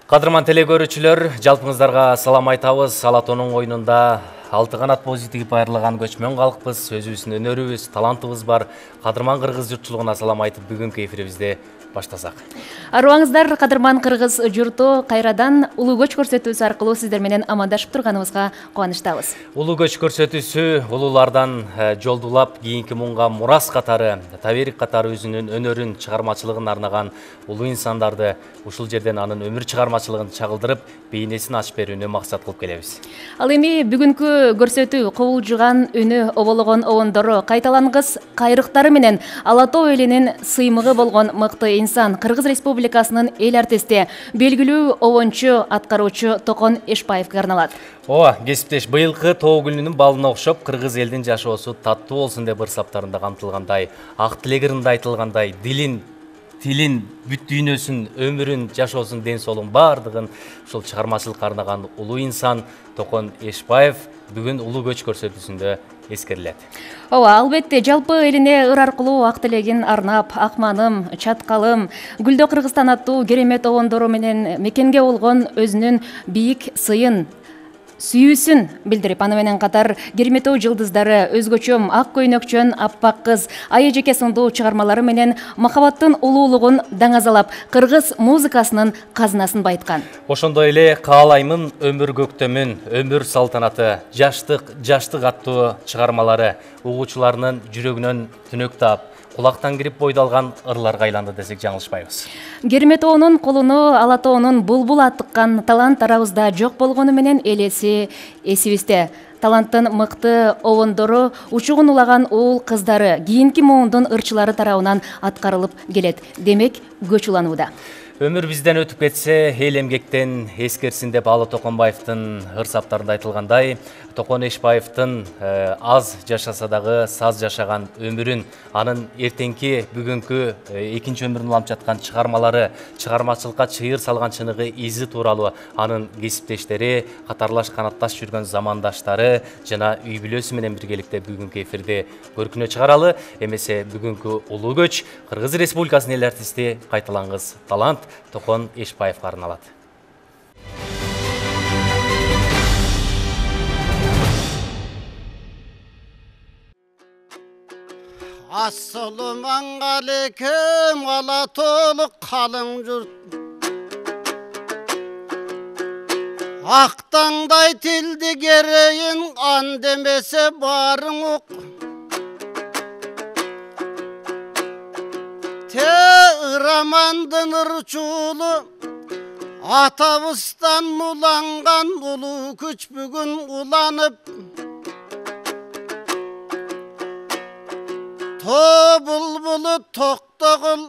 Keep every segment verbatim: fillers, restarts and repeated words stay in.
Кадырман телекөрүүчүлөр, жалпыңыздарга салам айтабыз. Алатоонун оюнунда алты канат боз тигип айрылган көчмөн калкпыз, өзүбүздүн өнөрүбүз, талантыбыз бар. Кадырман кыргыз журтчулугуна салам айтып, бүгүнкү эфирибизди баштасак. Арыбаңыздар, Кадырман кыргыз журту кайрадан улуу көч көрсөтүүсү аркылуу сиздер менен амандашып турганыбызга кубанычтабыз. Улуу көч көрсөтүүсү улуулардан жолдулап кийинки муңга мурас катары, таберик катары өзүнүн өнөрүн, чыгармачылыгын арнаган улуу инсандарды ушул жерден анын өмүр чыгармачылыгын чагылдырып, бейнесин ачып берүүнү максат кылып келебиз. Ал эми бүгүнкү көрсөтүү кубулжуган үнү, обологон обондору, кайталангыс кайрыктары менен Ала Тоо элинин сыймыгы болгон мыкты инсан, Кыргыз Республикасынын эл артисти, белгилүү обончу, аткаруучу Токон Эшпаевге арналат. Ооба, кесиптеш, быйылкы тоо гүлүнүн балына окшоп, кыргыз элдин жашоосу таттуу болсун деп ырсаптарында камтылгандай, ак тилегиринде айтылгандай, дилин, тилин, бүт дүйнөсүн, өмүрүн, жашоосун, ден соолугун баардыгын ушул чыгармачылыкка арнаган улуу инсан Токон Эшпаев бүгүн улуу көч көрсөтүүсүндө эскерилет. Ооба, албетте, жалпы элине ыр аркылуу ак тилегин арнап, Акманым, Чаткалым, Гүлдөө Кыргызстан аттуу керемет обондору менен мекенге болгон өзүнүн бийик сыйын, сүйүүсүн билдирип, аны менен катар кереметтүү жылдыздары, өзгөчөм, ак көйнөкчөн, аппак кыз, Ай эжеке сындуу чыгармалары менен махабаттын улуулугун даңазалап, кыргыз музыкасынын казынасын байыткан. Ошондой эле Каалаймын өмүр көктөмүн, өмүр салтанаты, жаштык, жаштык аттуу чыгармалары угуучуларынын жүрөгүнөн түнөк таап, кулактан кирип бойдалган ырларга айланды десек жаңылышпайбыз. Керметоонун колуну Ала Тоонун булбул аттыккан талант арабызда жок болгону менен элеси эсибизде. Таланттын мыкты обондору, учугун улаган уул кыздары, кийинки муундун ырчылары тарабынан аткарылып келет. Демек, көч уланууда. Өмүр бизден өтүп кетсе, эл эмгектен эскерсин деп Алы Токонбаевдин ырсаптарында айтылгандай, Токон Эшпаевдин аз жашаса дагы саз жашаган өмүрүн, анын эртеңки бүгүнкү экинчи өмүрүн уланып жаткан чыгармалары, чыгармачылыкка чыйыр салган чыныгы изи тууралуу анын кесиптештери, катарлаш канатташ жүргөн замандаштары жана үй бүлөсү менен биргеликте бүгүнкү эфирди көркүнө чыгаралы. Эмесе бүгүнкү улуу көч Кыргыз Республикасынын эл артисти, кайталангыс талант Токон Эшпаевге арналат. Ассаламу алейкум, Ала Тоолук калың журт. Актаңдай тилди керейин, ан демесе барың ук. Те ырамандын ырчуулу, атабыздан уланган улуу күч бүгүн уланып. Тоо булбулу токтогул,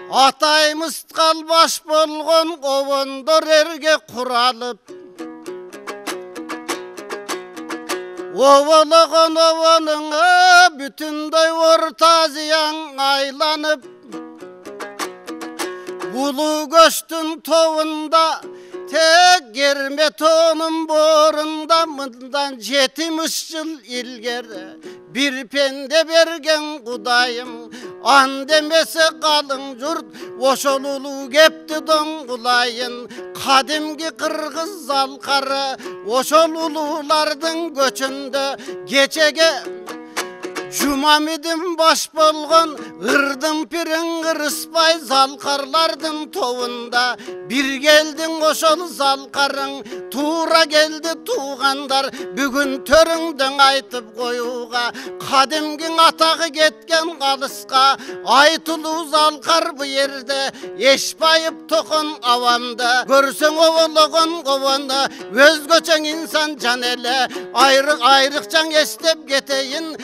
атайымыз калбаш болгон обондор эрге куралып. Обологон обонуңа бүтүндөй орта зыян айланып. Улуу көчтүн тобунда, тек Керметоонун боорунда мындан жетимиш жыл илгери бир пенде берген Кудайым, ан демесе калың журт, ошол улуу кепти доңгулайын. Кадимки кыргыз залкары, ошол улуулардын көчүндө кечеге Жумамидин баш болгон, ырдын пириң ырыспай залкарлардын тобунда. Бир келдиң ошол залкарың, туура келди туугандар, бүгүн төрүңдөң айтып коюуга. Кадимкиң атагы кеткен калыска, айтылуу залкар бу жерде, Эшпаев Токон авамда. Көрсөң обологон обону, өзгөчөң инсан жан эле, айрык айрыкчаң эстеп кетейин.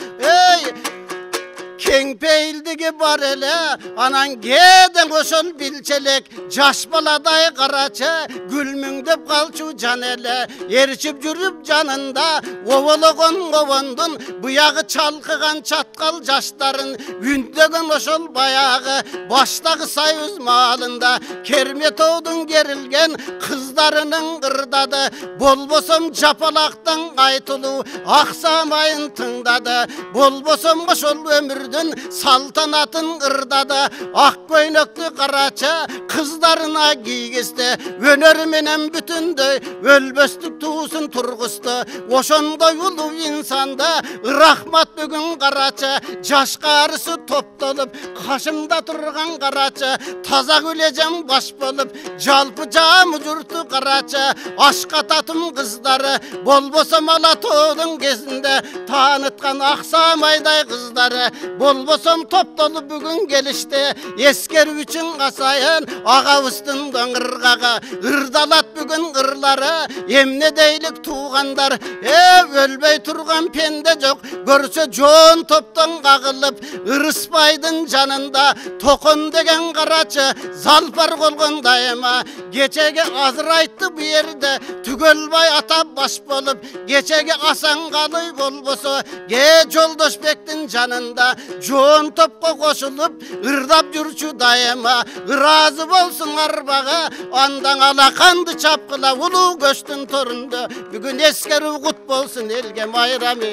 Кең пейилдиги бар эле, анан кээден ошол билчелек, жаш баладай карачы, күлмүңдөп калчу жан эле. Эрчип жүрүп жанында, обологон обондун, буягы чалкыган чаткал жаштарын, үндөгөн ошол баягы баштагы союз маалында. Керметоодун керилген кыздарынын ырдады, болбосом жапалактан айтылуу, аксамайын тыңдады. Болбосом ошол өмүрдө өмүрдүн салтанатын ырдады. Ак көйнөктү карача кыздарына кийгизди. Өнөр менен бүтүндөй өлбөстүк туусун тургузду. Ошондой улуу инсанда рахмат бүгүн карача. Жашкарысы топтолуп кашымда турган карача. Таза күлежем баш болуп жалпы жамы журту карача. Ашкататым кыздары болбосо Алатоодун кезинде тааныткан Аксамайдай кыздары болбосом топтолуп бүгүн келишти. Эскерүү үчүн касайын агабыздын ыргага ырдалат бүгүн ырлары. Эмне дейлик туугандар, э өлбөй турган пенде жок. Көрсө жоон топтон кагылып Ырыспайдын жанында Токон деген карачы залпар болгон дайыма. Кечеге азыр айтты бу жерде түгөлбай ата баш болуп. Кечеге Асангалый болбосо ке Жолдошбектин жанында жоон топко кошулуп ырдап жүрчү дайыма. Ыраазы болсун арбага андан алаканды чапкыла улуу көчтүн торунда. Бүгүн эскерүү кут болсун элге майрамы.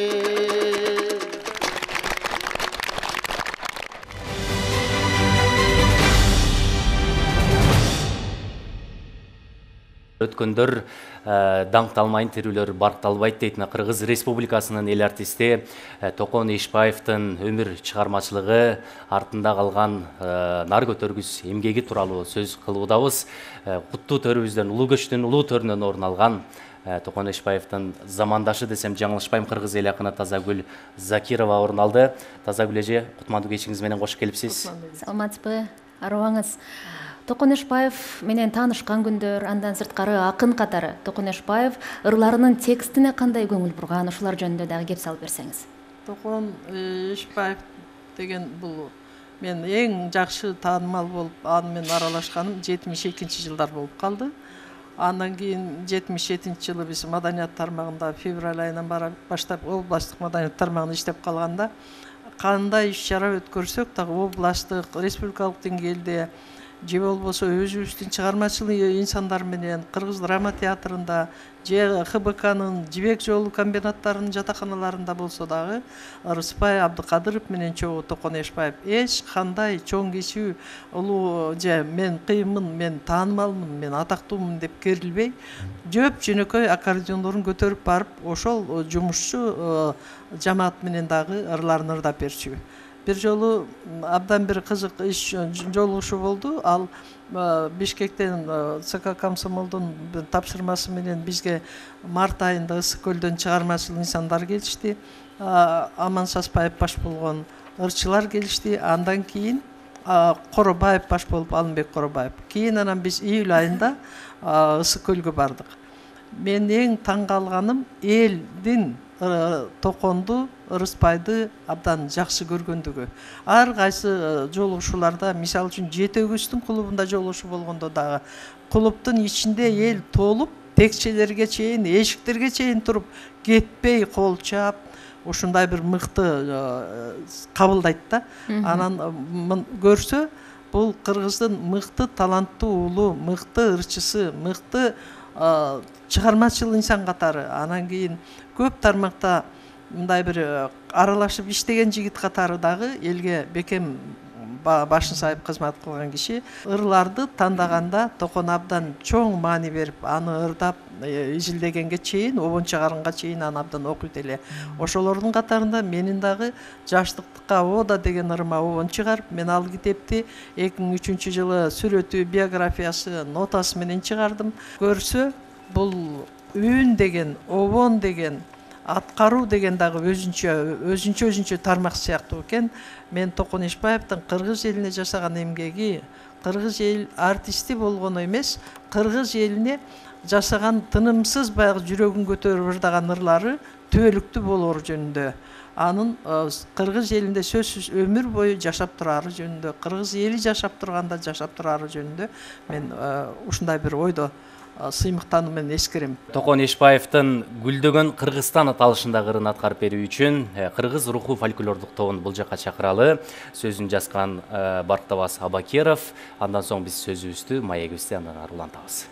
Өткөндөр даңкталмайын тирүүлөр баркталбайт дейт Кыргыз Республикасынын эл артисти Токон Эшбаевдин өмүр чыгармачылыгы, артында калган нар көтөргүс эмгеги тууралуу сөз кылуудабыз. Куттуу төрүбүздөн, улуу көчтүн улуу төрүнөн орун алган Токон Эшбаевдин замандашы десем жаңылышпайм, кыргыз эл акыны Тазагүл Закирова орун алды. Тазагүл эже, кутмандуу кечиңиз менен кош келипсиз. Саламатсызбы, арыбаңыз. Токон Эшбаев менен таанышкан күндөр, андан сырткары акын катары Токон Эшбаев ырларынын текстине кандай көңүл бурган, ушулар жөнүндө дагы кеп салып берсеңиз. Токон Эшбаев деген бул мен эң жакшы таанымал болуп, аны менен аралашканым жетимиш экинчи жылдар болуп калды. Андан кийин жетимиш жетинчи жылы биз маданият тармагында февраль айынан баштап областтык маданият тармагында иштеп калганда кандай иш-чара өткөрсөк дагы областтык, республикалык деңгээлде же болбосо өзүбүздүн чыгармачыл инсандар менен Кыргыз драма театрында же Х Б К'нын Жибек жолу комбинаттарынын жатаканаларында болсо дагы Рыспай Абдыкадыров менен чогуу Токон Эшбаев эч кандай чоң киши улуу же мен кыйынмын, мен таанымалмын, мен атактуумун деп керилбей жөп жөнөкөй аккордеондорун көтөрүп барып ошол жумушчу жамаат менен дагы ырларын ырдап берчү. Бир жолу абдан бир кызык иш жолугушуу болду. Ал Бишкектен ЦК комсомолдун тапшырмасы менен бизге март айында Ысык көлдөн чыгармачыл инсандар келишти. Аман Саспаев баш болгон ырчылар келишти. Андан кийин Коробаев баш болуп, Алымбек Коробаев. Кийин анан биз июль айында Ысык көлгө бардык. Мен эң таң калганым элдин Токонду, Ырыспайды абдан жакшы көргөндүгү. Ар кайсы жолугушууларда, мисалы үчүн Жетөгүстүн клубунда жолугушуу болгондо дагы клубдун ичинде эл толуп, текчелерге чейин, эшиктерге чейин туруп, кетпей кол чаап, ушундай бир мыкты кабылдайт да. Анан көрсө, бул Кыргыздын мыкты таланттуу улуу, мыкты ырчысы, мыкты чыгармачыл инсан катары. Анан кийин көп тармакта мындай бир аралашып иштеген жигит катары дагы элге бекем башын сайып кызмат кылган киши. Ырларды тандаганда Токон абдан чоң маани берип, аны ырдап изилдегенге чейин, обон чыгарганга чейин аны абдан окуйт эле. Ошолордун катарында менин дагы жаштыктыкка Ода деген ырыма обон чыгарып, мен ал китепти эки миң үчүнчү жылы сүрөтү, биографиясы, нотасы менен чыгардым. Көрсө, бул үн деген, обон деген, аткаруу деген дагы өзүнчө өзүнчө өзүнчө тармак сыяктуу экен. Мен Токон Эшбаевдин кыргыз элине жашаган эмгеги, кыргыз эл артисти болгону эмес, кыргыз элине жашаган тынымсыз баягы жүрөгүн көтөрүп ырдаган ырлары түбөлүктүү болоор жөнүндө, анын кыргыз элинде сөзсүз өмүр бою жашап турары жөнүндө, кыргыз эли жашап турганда жашап турары жөнүндө мен ушундай бир ойдо сыймыктануу менен эскерем. Токон Эшбаевдин Гүлдөгөн Кыргызстан аталышындагы ырын аткарып берүү үчүн кыргыз руху фольклордук тобун бул жака чакыралы. Сөзүн жазган Барктабас Абакеров. Андан соң биз сөзүбүздү, маегибизди андан ары улантабыз.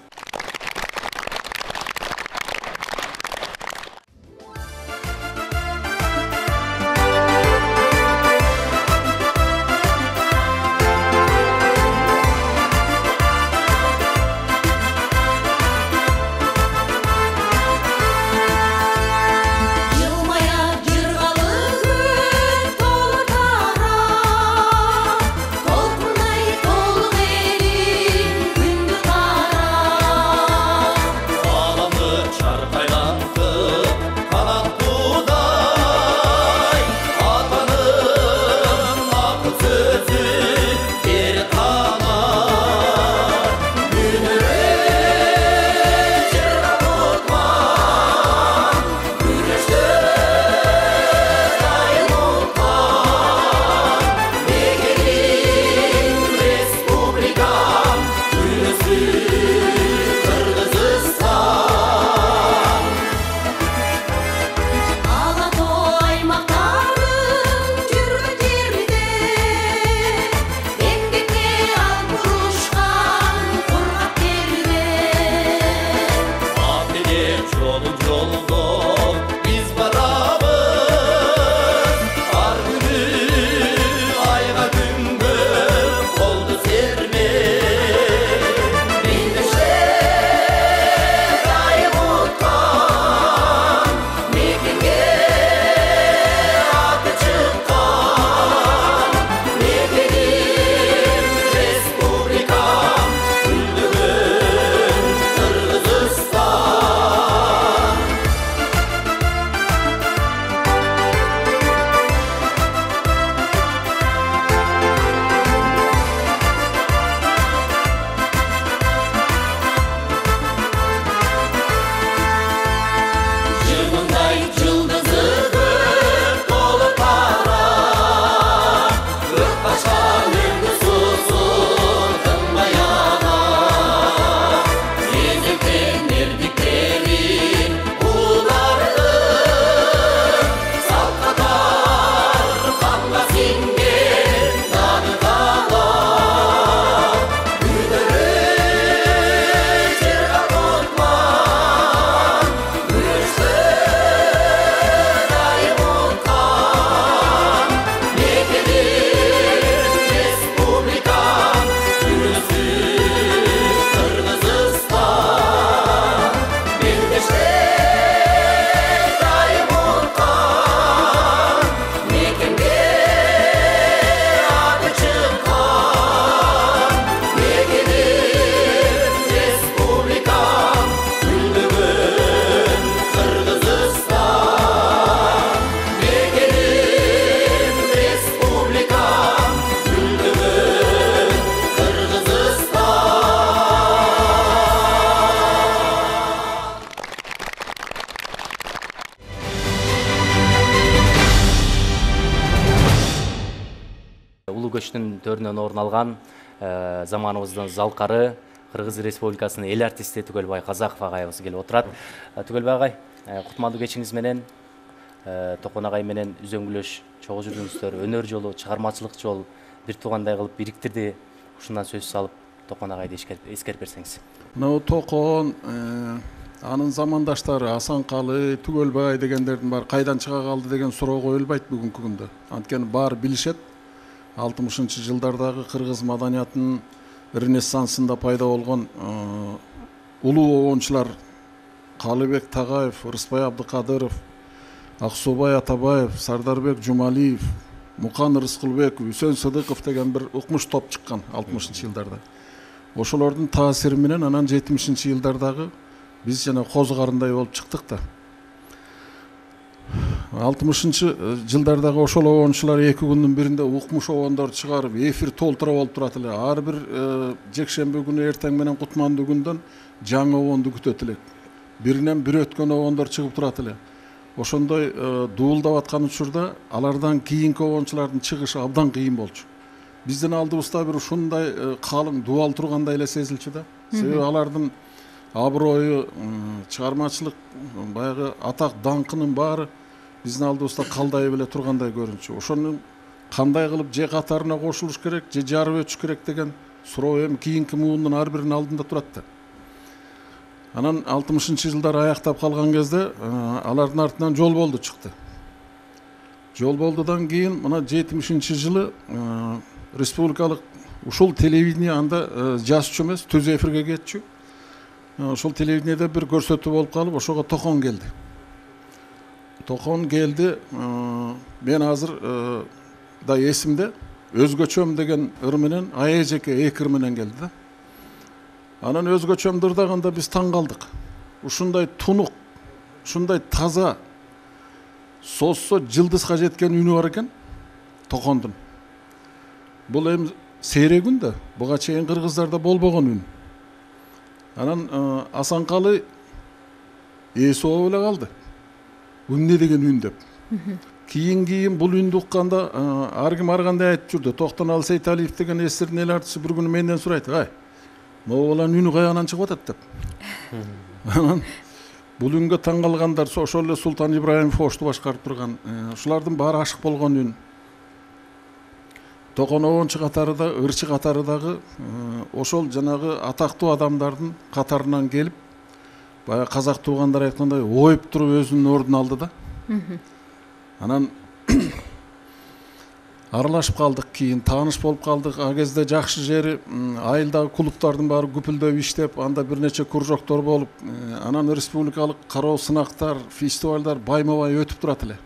көчтүн төрүнөн орун алган заманыбыздын залкары Кыргыз Республикасынын эл артисти Түгөлбай Казаков агайыбыз келип отурат. Түгөлбай агай, кутмандуу кечиңиз менен Токон агай менен үзөңгүлөш чогуу жүрдүңүздөр, өнөр жолу, чыгармачылык жол бир туугандай кылып бириктирди. Ушундан сөз салып, Токон агайды эскерип берсеңиз. Мына Токон, анын замандаштары Асанкалы, Түгөлбай дегендердин баары кайдан чыга калды деген суроо коюлбайт бүгүнкү күндө. Анткени баары билишет. алтымышынчы жылдардагы кыргыз маданиятынын ренессансында пайда болгон улуу обончулар Калыбек Тагаев, Рыспай Абдыкадыров, Аксубай Атабаев, Сардарбек Жумалиев, Мукан Рыскылбеков, Үсөн Сыдыков деген бир укмуш топ чыккан алтымышынчы жылдарда. Ошолордун таасири менен анан жетимишинчи жылдардагы биз жана коз карындай болуп чыктык да. алтымышынчы жылдардагы ошол обончулар эки күндүн биринде укмуш обондорду чыгарып, эфир толтура болуп турат эле. Ар бир жекшемби күнү эртең менен кутмандуу күндөн жаңы обонду күтөт элек. Биринен бир өткөн обондор чыгып турат эле. Ошондой дуулдап аткан учурда алардан кийинки обончулардын чыгышы абдан кыйын болчу. Биздин алдыбызда бир ушундай калың дубал тургандай эле сезилчү да. Себеби алардын аброю, чыгармачылык, баягы атак даңкынын баары биздин алдыбызда калдай беле тургандай көрүнчү. Ошону кандай кылып же катарына кошулуш керек, же жарып өтүш керек деген суроо эми кийинки муундун ар биринин алдында турат да. Анан алтымышынчы жылдар аяктап калган кезде алардын артынан жол болду чыкты. Жол болдудан кийин мына жетимишинчи жылы республикалык ушул телевидение анда жазчу эмес, түз эфирге кетчү. Ошол телевидениеде бир көрсөтүү болуп калып, ошого Токон келди. Токон келди, мен азыр да эсимде өзгөчөм деген ыр менен АЭЖК эки ыр менен келди да. Анан өзгөчөм дырдаганда биз таң калдык. Ушундай тунук, ушундай таза, созсо жылдызга жеткен үнү бар экен Токондун. Бул эми сейрек үн да, буга чейин кыргыздарда болбогон үн. Анан Асанкалы эси болуп эле калды. Эмне деген үн деп. Кийин кийин бул үндү укканда ар ким ар кандай айтып жүрдү. Токтонал Сейталиев деген эсирдин эл артисти бир күнү менден сурайт: "Ай, могу баланын үнү каягынан чыгып атат" деп. Анан бул үнгө таң калгандар ошол эле Султан Ибраимов ошту башкарып турган, ушулардын баары ашык болгон үн. Токон обончу катары да, ырчы катары дагы ошол жанагы атактуу адамдардын катарынан келип, баягы казак туугандар айткандай оюп туруп өзүнүн ордун алды да. Анан аралашып калдык, кийин тааныш болуп калдык. А кезде жакшы жери айылдагы клубдардын баары күпүлдөп иштеп, анда бир нече кружоктор болуп, анан республикалык кароо сынактар, фестивалдар байма-бай өтүп турат эле.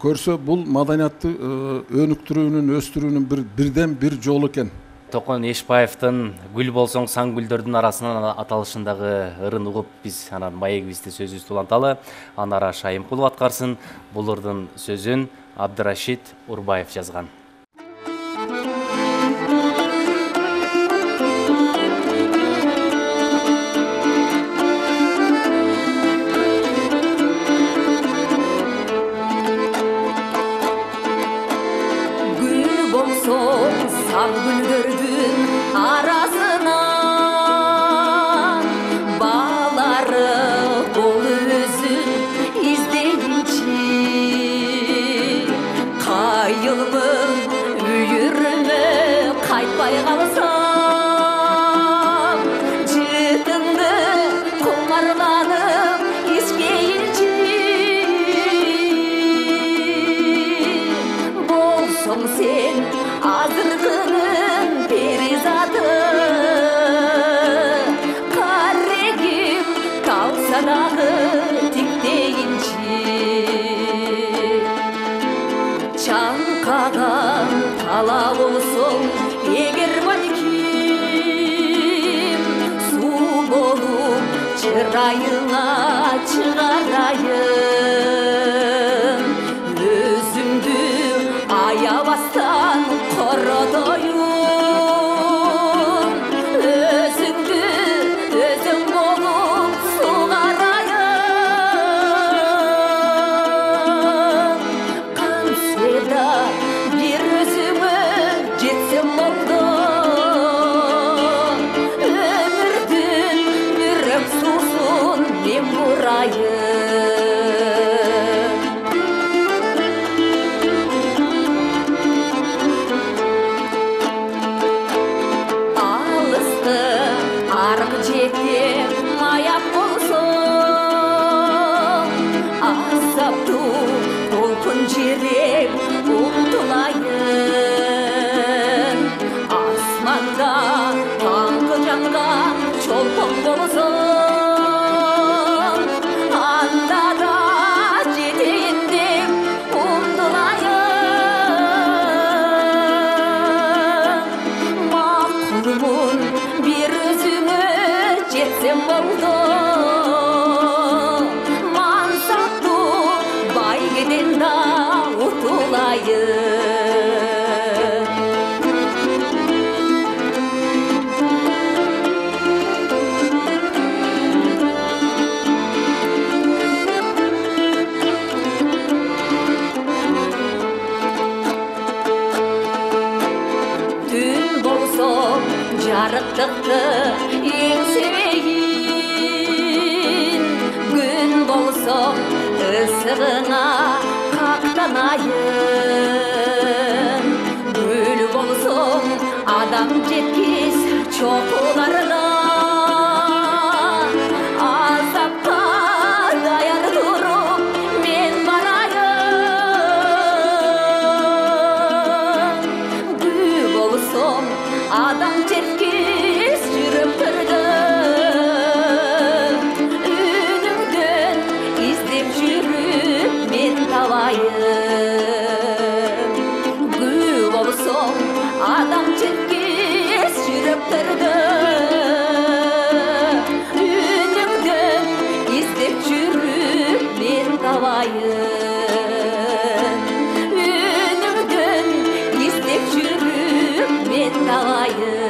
Көрсө бул маданиятты өнүктүрүүнүн, өстүрүүнүн бир бирден бир жолу экен. Токон Эшбаевдин "Гүл болсоң саң гүлдөрдүн арасынан" аталышындагы ырын угуп биз анан маегибизди сөзүбүздү уланталы. Анара Шайымкулова аткарсын. Бул ырдын сөзүн Абдырашид Урбаев жазган. Gül bolsоң саң гүлдөрдүн арасынан, баалары бол өзүн издейинчи. Кайылмын үйүрмө кайтпай калсам, жытыңды кумарланып ичпейинчи. Болсоң сен азыркынын перизаты, карегим калса дагы тиктейинчи. Чаңкаган тала болсоң эгер балким, суу болуп чырайыңа чыгарайын. Өзүмдү аябастан коротоюн, өзүңдү өзүң болуп сугарайын. Канседа бир өзүңө жүрек умтулайын асманда таңғы жанған чолпон болсын анда да жетейин деп умтулайын макулмун бир өзүңө жетсем болду жарыктыкты эң себейин күн болсо ысыгына кактанайын гүл болсоң адам жеткиз чокуларына азапка даяр туруп мен барайын гүл болсоң адам жеткиз жүрөктөрдө үнүңдөн издеп жүрүп мен табайын гүл болсоң адам жеткиз жүрөктөрдө үнүңдөн издеп жүрүп мен табайын үнүңдөн издеп жүрүп мен табайын.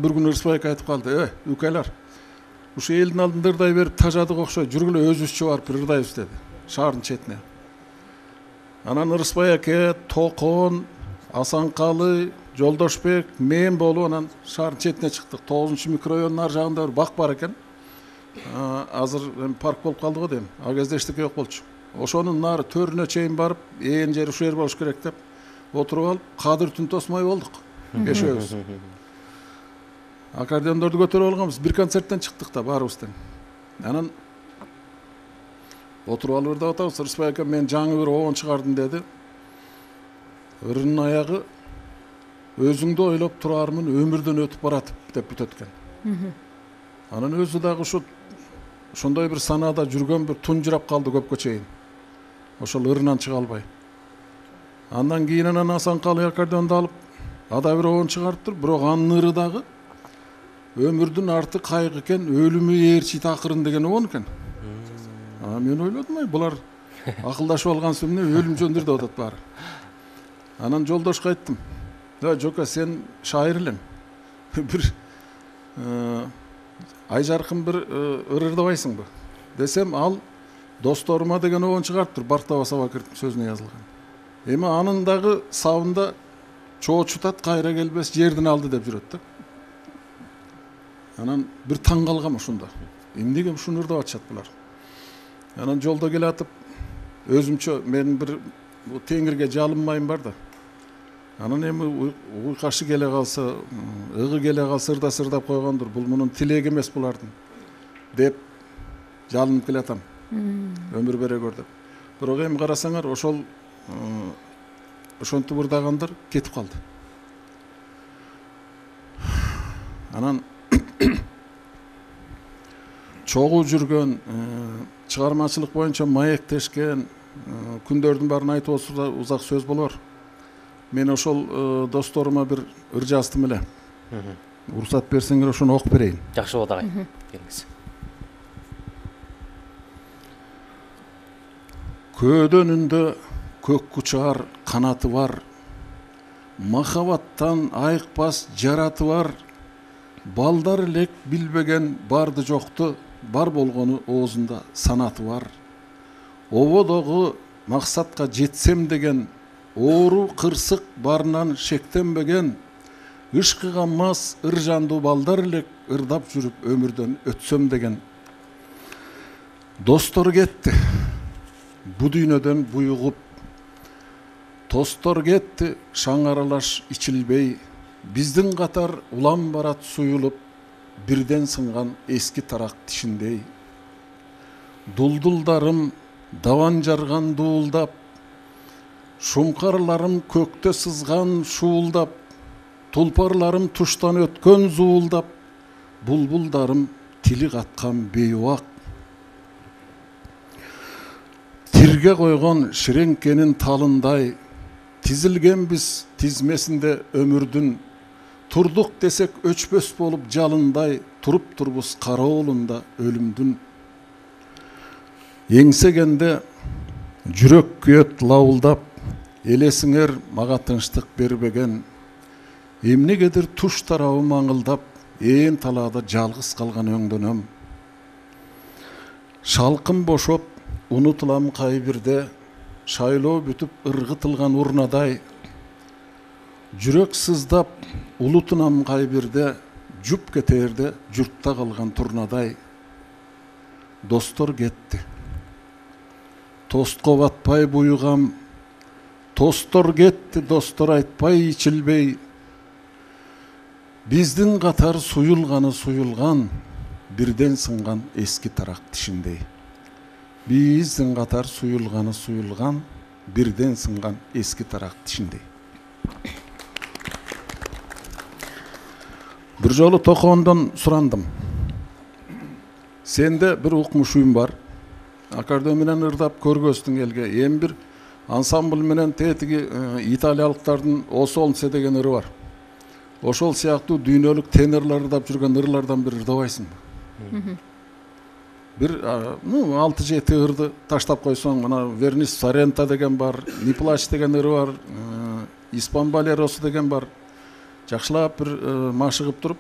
Bir gün Ырысбайга айтып калды: "Э, үкайлар, ушу элдин алдында ырдай берип тажадык окшойт, жүргүлө өзүбүзчө барып бир ырдайбыз" деди, шаардын четине. Анан Ырысбай аке, Токон, Асанкалы, Жолдошбек, мен болуп анан шаардын четине чыктык. тогузунчу микрорайондун ар жагында бир бак бар экен. Азыр парк болуп калды го дейм. А кезде эчтеке жок болчу. Ошонун нары төрүнө чейин барып, ээн жери ушул жер болуш керек деп отуруп алып, Кадыр түн тосмой болдук. Бешөөбүз. Аккордеондорду көтөрүп алганбыз. Бир концерттен чыктык да баарыбыз тең. Анан отуруп алып ырдап атабыз. Ырысбай ака мен жаңы бир оон чыгардым деди. Ырынын аягы өзүңдү ойлоп турармын, өмүрдөн өтүп баратып деп бүтөт экен. Анан өзү дагы ушу ошондой бир санаада жүргөн, бир тунжурап калды көпкө чейин. Ошол ырынан чыга албай. Андан кийин анан Асанкалы аккордеонду алып, ада бир оон чыгарыптыр, бирок анын ыры дагы өмүрдүн арты кайгы экен, өлүмү ээрчи такырын деген оон экен. А мен ойлодум, ай булар акылдашып алган соң эмне өлүм жөндөр деп атат баары. Анан Жолдошко айттым: "Да, Жока, сен шайыр элең. Бир ай жаркын бир ыр ырдабайсыңбы?" Десем, ал Досторума деген оон чыгарыптыр, Бартаба Сабакырдын сөзүнө жазылган. Эми анын дагы сабында чоочутат кайра келбес жердин алды деп жүрөт да. Анан бир таң калгам ошондо. Эмнеге ушуну ырдап атышат булар? Анан жолдо келатып, өзүмчө мен бир теңирге жалынмайм бар да. Анан эми уйкашы келе калса, ыгы келе калса ырда сырдап койгондур. Бул мунун тилеги эмес булардын деп жалынып келатам. Өмүр бере көр деп. Бирок эми карасаңар, ошол ошентип ырдагандар кетип калды. Анан чогуу жүргөн, чыгармачылык боюнча маектешкен, күндөрдүн баарын айтып отурса узак сөз болор. Мен ошол досторума бир ыр жаздым эле. Уруксат берсеңер ошону окуп берейин. Жакшы болот агай. Келиңиз. Көөдөнүндө көк кучар канаты бар, махабаттан айыкпас жараты бар, балдар элек билбеген барды жокту, бар болгону оозунда санаты бар. Ободогу максатка жетсем деген, оору кырсык барынан шектенбеген, ышкыга мас ыр жандуу балдар элек ырдап жүрүп өмүрдөн өтсөм деген. Достор кетти, бу дүйнөдөн буйугуп, тостор кетти, шаң аралаш ичилбей, биздин катар улам барат суюлуп, бирден сынган эски тарак тишиндей. Дулдулдарым даван жарган дуулдап, шумкарларым көктө сызган шуулдап, тулпарларым туштан өткөн зуулдап, булбулдарым тили каткан бейубак. Тирге койгон ширеңкенин талындай, тизилгенбиз тизмесинде өмүрдүн, турдук десек өчпөс болуп жалындай, туруп турбуз кароолунда өлүмдүн. Еңсегенде жүрөк күйөт лавылдап, элесиңер мага тынчтык бербеген, эмнегедир туш тарабым аңылдап, ээн талаада жалгыз калган өңдөнөм. Шалкым бошоп, унутулам кай бирде, шайлоо бүтүп ыргытылган урнадай, жүрөк сыздап, улутунам кай бирде, жуп кетерде журтта калган турнадай. Достор кетти. Тостко батпай буюгам, тостор кетти, достор айтпай ичилбей. Биздин катар суюлганы суюлган, бирден сынган эски тарак тишиндей. Биздин катар суюлганы суюлган, бирден сынган эски тарак тишиндей. Бир жолу Токоондон сурандым. Сенде бир укмушуюм бар. Аккордеон менен ырдап көргөзтүң элге. Эми бир ансамбль менен тетиги италиялыктардын Осолнсе деген ыры бар. Ошол сыяктуу дүйнөлүк тенорлар ырдап жүргөн ырлардан бир ырдабайсыңбы? Бир ну алты жети ырды таштап койсоң, мына Вернис Сорента деген бар, Ниплач деген ыры бар, Испан Болеросу деген бар. Жакшылап бир машыгып туруп,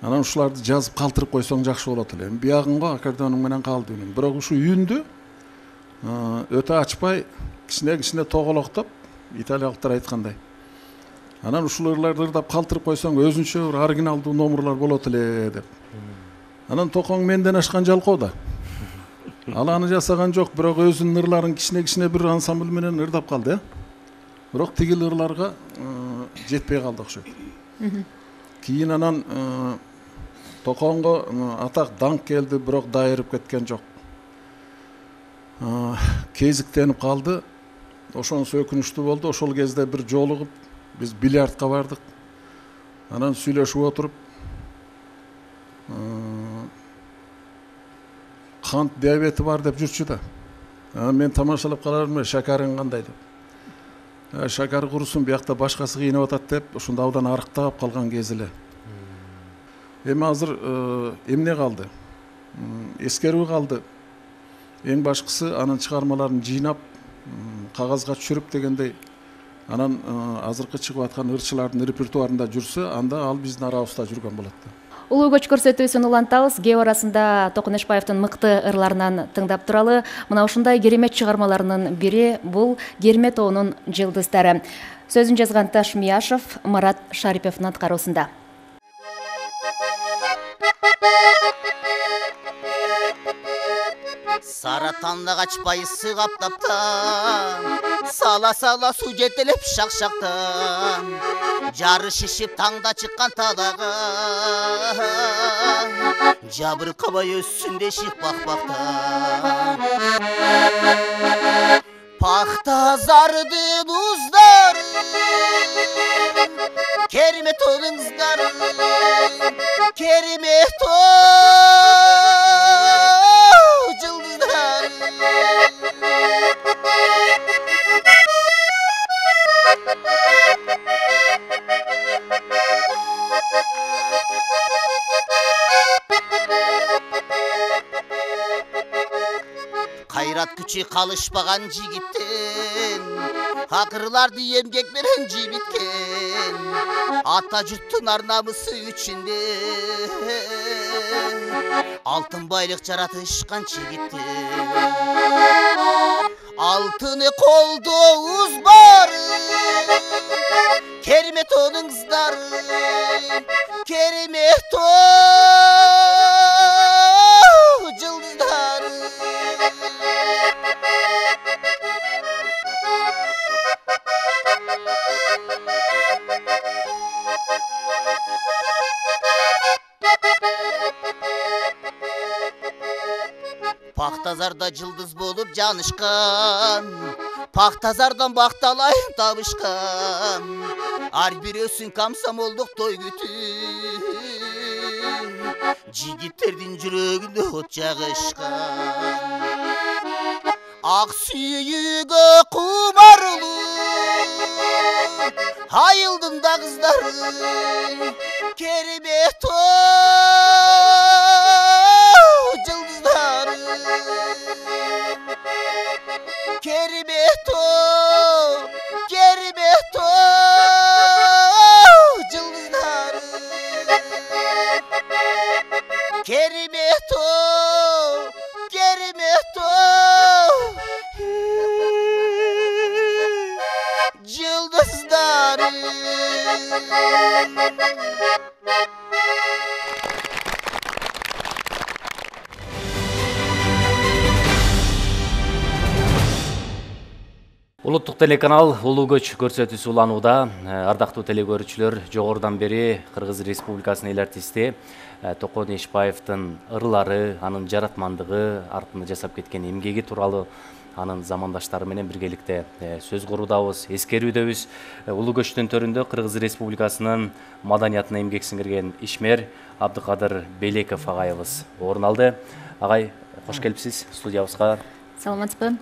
анан ушуларды жазып калтырып койсоң жакшы болот эле. Эми биягың го аккордеоның менен калды үнүң. Бирок ушу үйүндү өтө ачпай, кичине-кичине тоголоктоп, италиялыктар айткандай. Анан ушул ырларды ырдап калтырып койсоң өзүнчө бир оригиналдуу номурлар болот эле деп. Анан Токооң менден ашкан жалкоо да. Ал аны жасаган жок, бирок өзүнүн ырларын кичине-кичине бир ансамбль менен ырдап калды, э. Бирок тигил ырларга жетпей калды окшойт. Кийин анан Токооңго атак даңк келди, бирок дайырып кеткен жок. Кезиктенип калды. Ошонусу өкүнүчтүү болду. Ошол кезде бир жолугуп биз бильярдка бардык. Анан сүйлөшүп отуруп, кант диабети бар деп жүрчү да. Анан мен тамашалап калармын, шакарың кандай деп. Шакар курусун, биякта башкасы кыйнап атат деп, ушунда абдан арыктап калган кези эле. Эми азыр эмне калды? Эскерүү калды. Эң башкысы анын чыгармаларын жыйнап, кагазга түшүрүп дегендей, анан азыркы чыгып аткан ырчылардын репертуарында жүрсө, анда ал биздин арабызда жүргөн болот да. Улуу көч көрсөтүүсүн улантабыз. Кээ арасында Токон Эшбаевдин мыкты ырларынан тыңдап туралы. Мына ушундай керемет чыгармаларынын бири бул Керме тоонун жылдыздары. Сөзүн жазган Ташмияшев, Марат Шариповдун аткаруусунда. Саратанды качпай сыгап таптан, сала-сала суу жетелеп шак-шактан, жары шишип таңда чыккан талага, жабыркабай өссүн дешик бак-бактан. Пахта зардын уздары, Керме тоонун кыздары, Керме тоо жылдыздары. Кайрат күчү калышпаган жигиттен, акырларды эмгек менен жибиткен, ата журттун ар намысы үчүндө алтын байлык жаратышкан жигиттен. Алтыны колдо уз бар, Керме тоонун кыздары, Керме тоо жылдыздары. Пактазарда жылдыз болуп жанышкан, Пактазардан бакталайын табышкан, ар бирөөсүн комсомолдук той күтүп, жигиттердин жүрөгүндө от жагышкан. Ак сүйүүгө кумарлуу айылдын да кыздары, кербет жылдыздары, кербет кербет жылдыздары, кербет кербет жылдыздары. Улуттук телеканал Улуу көч көрсөтүүсү уланууда. Ардактуу телекөрүүчүлөр, жогорудан бери Кыргыз Республикасынын эл артисти Токон Эшбаевдин ырлары, анын жаратмандыгы, артында жасап кеткен эмгеги тууралуу анын замандаштары менен биргеликте сөз куруудабыз, эскерүүдөбүз. Улуу көчтүн төрүндө Кыргыз Республикасынын маданиятына эмгек сиңирген ишмер Абдыкадыр Белеков агайыбыз орун алды. Агай, кош келипсиз студиябызга. Саламатсызбы?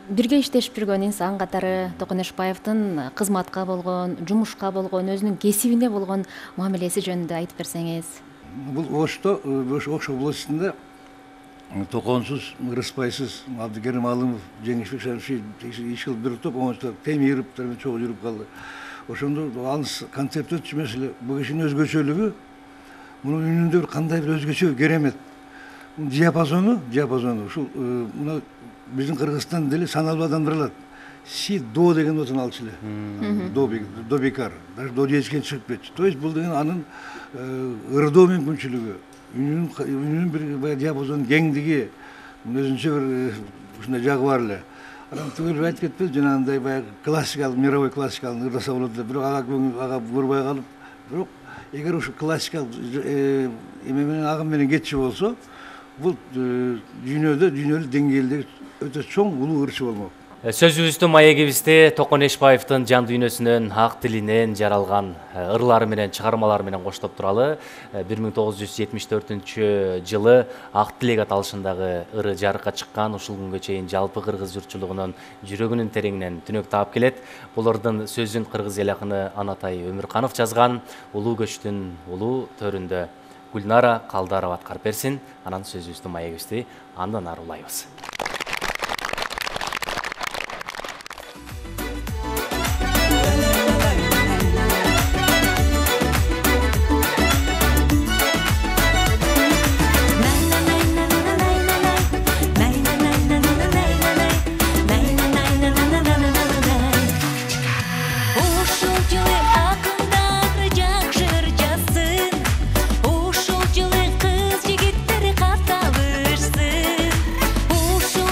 Бирге иштешип жүргөн инсан катары Токон Эшбаевдин кызматка болгон, жумушка болгон, өзүнүн кесибине болгон мамилеси жөнүндө айтып берсеңиз. Бул Ошто, Ош областында Токонсуз, Ырыспайсыз, Абдыкерим Алымов, Жеңишбек Шарифи иш кылып бир топ, оңочтор Темировдор менен чогуу жүрүп калды. Ошондо алыс концепт өтчү маселе. Бул кишинин өзгөчөлүгү, мунун үнүндө бир кандай бир өзгөчө керемет. Диапазону, диапазону ушул мына биздин Кыргызстан деле саналуу адамдар алат. Си до деген отун алчу эле. До до бекар. Даже до дечкен чыгып кетчү. То есть бул деген анын ырдоо мүмкүнчүлүгү, үнүнүн үнүнүн бир диапазон кеңдиги, өзүнчө бир ушундай жагы бар эле. Анан түгөл айтып кетпес, жанагындай баягы классикалык, мировой классикалык ырдаса болот эле. Бирок ага ага көрбөй калып, бирок эгер ушу классикалык эме менен агым менен кетчү болсо, бул дүйнөдө дүйнөлүк деңгээлдеги өтө чоң улуу ырчы болмок. Сөзүбүздүн маегибизде Токон Эшбаевдин жан дүйнөсүнөн, ак тилинен жаралган ырлары менен, чыгармалары менен коштоп туралы. бир миң тогуз жүз жетимиш төртүнчү жылы Ак тилек аталышындагы ыры жарыкка чыккан, ушул күнгө чейин жалпы кыргыз журтчулугунун жүрөгүнүн тереңинен түнөк таап келет. Бул ырдын сөзүн кыргыз эл акыны Анатай Өмүрканов жазган. Улуу көчтүн улуу төрүндө Гүлнара Калдарова аткарып берсин. Анан сөзүбүздүн маегибизди андан ары улайбыз. Ушул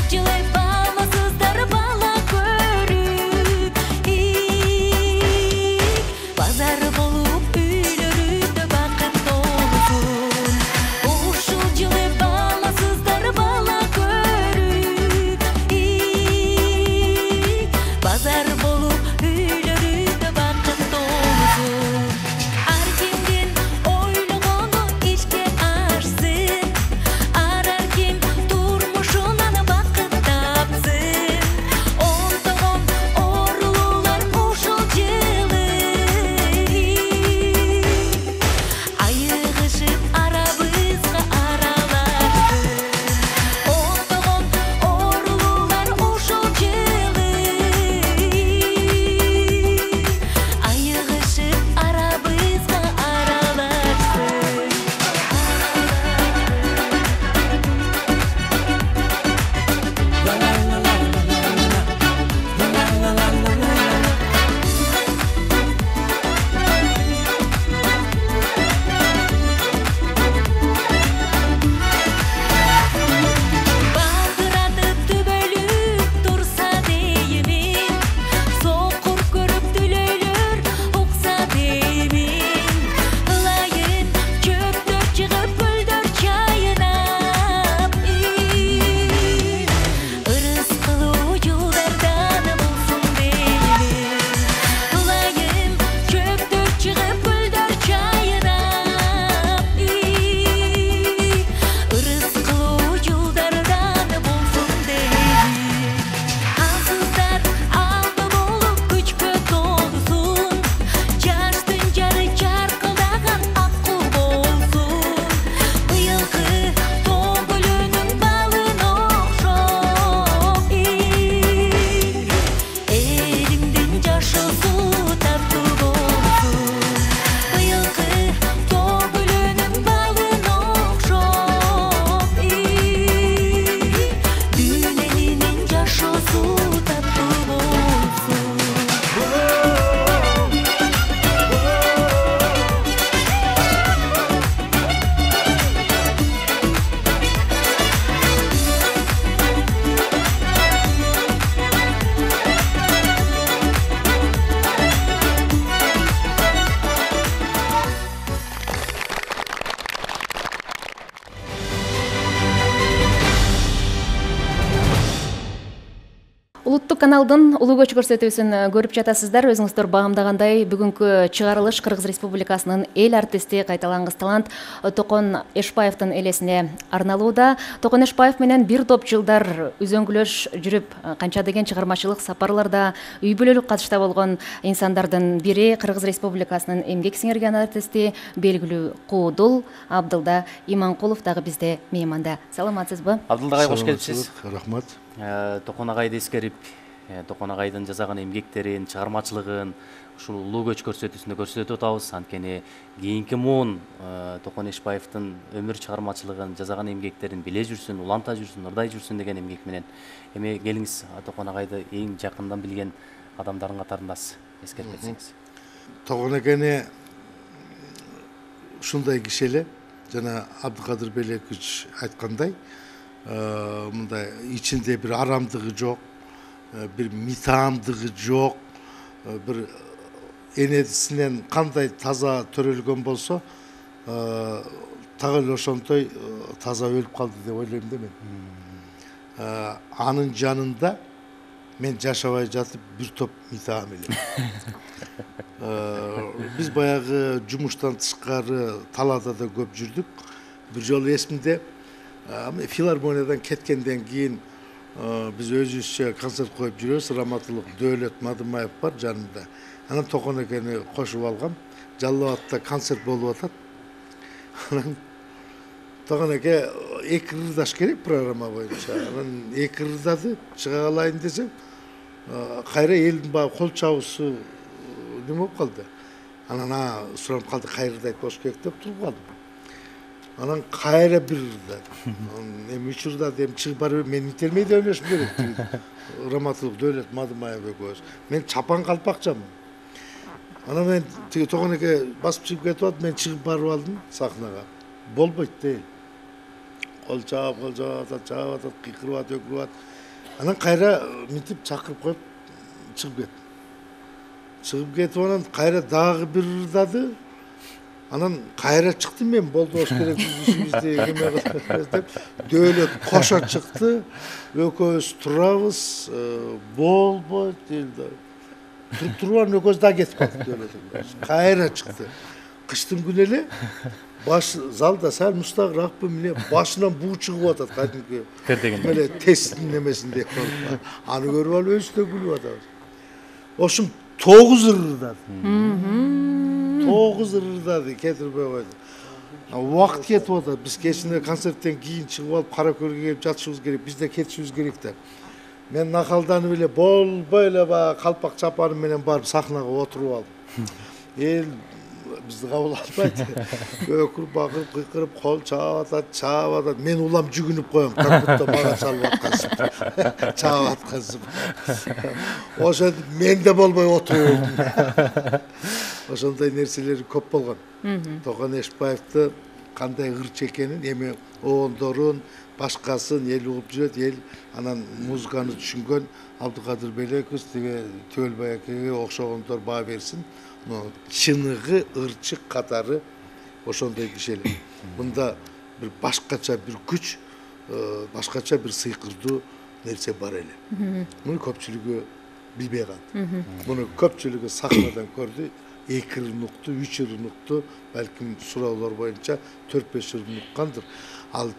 каналдын улуу көч көрсөтүүсүн көрүп жатасыздар. Өзүңүздөр баамдагандай бүгүнкү чыгарылыш Кыргыз Республикасынын эл артисти кайталангыс талант Токон Эшбаевдин элесине арналууда. Токон Эшбаев менен бир топ жылдар үзөңгүлөш жүрүп, канча деген чыгармачылык сапарларда үй бүлөлүк катышта болгон инсандардын бири Кыргыз Республикасынын эмгек сиңирген артисти белгилүү Куудул Абдылда Иманкулов дагы бизде мейманда. Саламатсызбы? Абдылда агай, кош келипсиз. Рахмат. Токон агайды эскерип, Токон агайдын жасаган эмгектерин, чыгармачылыгын ушул улуу көч көрсөтүүсүндө көрсөтүп атабыз. Анткени кийинки муун Токон Эшбаевдин өмүр чыгармачылыгын, жасаган эмгектерин биле жүрсүн, уланта жүрсүн, ырдай жүрсүн деген эмгек менен. Эми келиңиз, Токон агайды эң жакындан билген адамдардын катарындасыз, эскерип кетсеңиз. Токон экени ушундай киши эле, жана Абдыкадыр Белекович айткандай, мындай ичинде бир арамдыгы жок, бир митаамдыгы жок, бир энесинен кандай таза төрөлгөн болсо, так эле ошонтой таза өлүп калды деп ойлойм да мен. Анын жанында мен жашабай жатып бир топ митаам эле. Биз баягы жумуштан тышкары талаада да көп жүрдүк. Бир жолу эсимде, филармониядан кеткенден кийин биз өзүбүзчө концерт коюп жүрөбүз. Раматылык Дөөлөт Мадымаев бар жанымда. Анан Токон экени кошуп алгам. Жалал Абадта концерт болуп атат. Анан Токон эке эки ырдаш керек программа боюнча. Анан эки ырдады, чыга калайын десем, кайра элдин баягы кол чабуусу неме болуп калды. Анан суранып калды, кайрыдайт болуш керек деп туруп калдым. Анан кайра бир ырдады. Эми үч ырдады, эми чыгып барып мен итермейде ойлошум керек. Раматылык Дөөлөт Мадымаев экөөбүз. Мен чапан калпакчамын. Анан мен тиги Токон эке басып чыгып кетип атып, мен чыгып барып алдым сахнага. Болбойт дейт. Кол чаап, кол чаап атат, чаап атат, кыйкырып атат, өкүрүп атат. Анан кайра мынтип чакырып коюп чыгып кеттим. Чыгып кетип анан кайра дагы бир ырдады. Анан кайра чыктым мен, болду болуш керек ишибизди эме кылабыз деп. Дөөлөт кошо чыкты. Экөөбүз турабыз, болбойт дейди. Туруп турган экөөбүз да кетип калдык Дөөлөт. Кайра чыкты. Кыштын күнү эле баш залда сал мустагыраак эмне башынан буу чыгып атат, кадимки Кыр деген. эле тесттин немесиндей болуп. Аны көрүп алып өзүбүз да күлүп атабыз. Ошум тогуз ырдады. тогуз ырдады, кетирбей койду. Убакыт кетип атат. Биз кечинде концерттен кийин чыгып алып кара көргө келип жатышыбыз керек. Биз да кетишибиз керек да. Мен накалданып эле болбой эле баягы калпак чапаным менен барып сахнага отуруп алдым. Эл бизди кабыл албайт. Өкүрүп, бакырып, кыйкырып, кол чаап атат, чаап атат. Мен улам жүгүнүп коем, как будто мага чалып аткансып, чаап аткансып. Ошентип мен да болбой отуруп алдым. Ошондой нерселер көп болгон. Токон Эшбаевди кандай ырчы экенин, эмиоондорун, башкасын эл угуп жүрөт, эл анан музыканы түшүнгөн Абдыкадыр Белекович тиги Төөлбай акеге окшогондор баа берсин. Чыныгы ырчы катары ошондой киши эле. Мында бир башкача бир күч, башкача бир сыйкырдуу нерсе бар эле. Муну көпчүлүгү билбей калды. Муну көпчүлүгү сахнадан көрдү. Эки ырын укту, үч ырын укту, балким суроолор боюнча төрт беш ырын уккандыр. Ал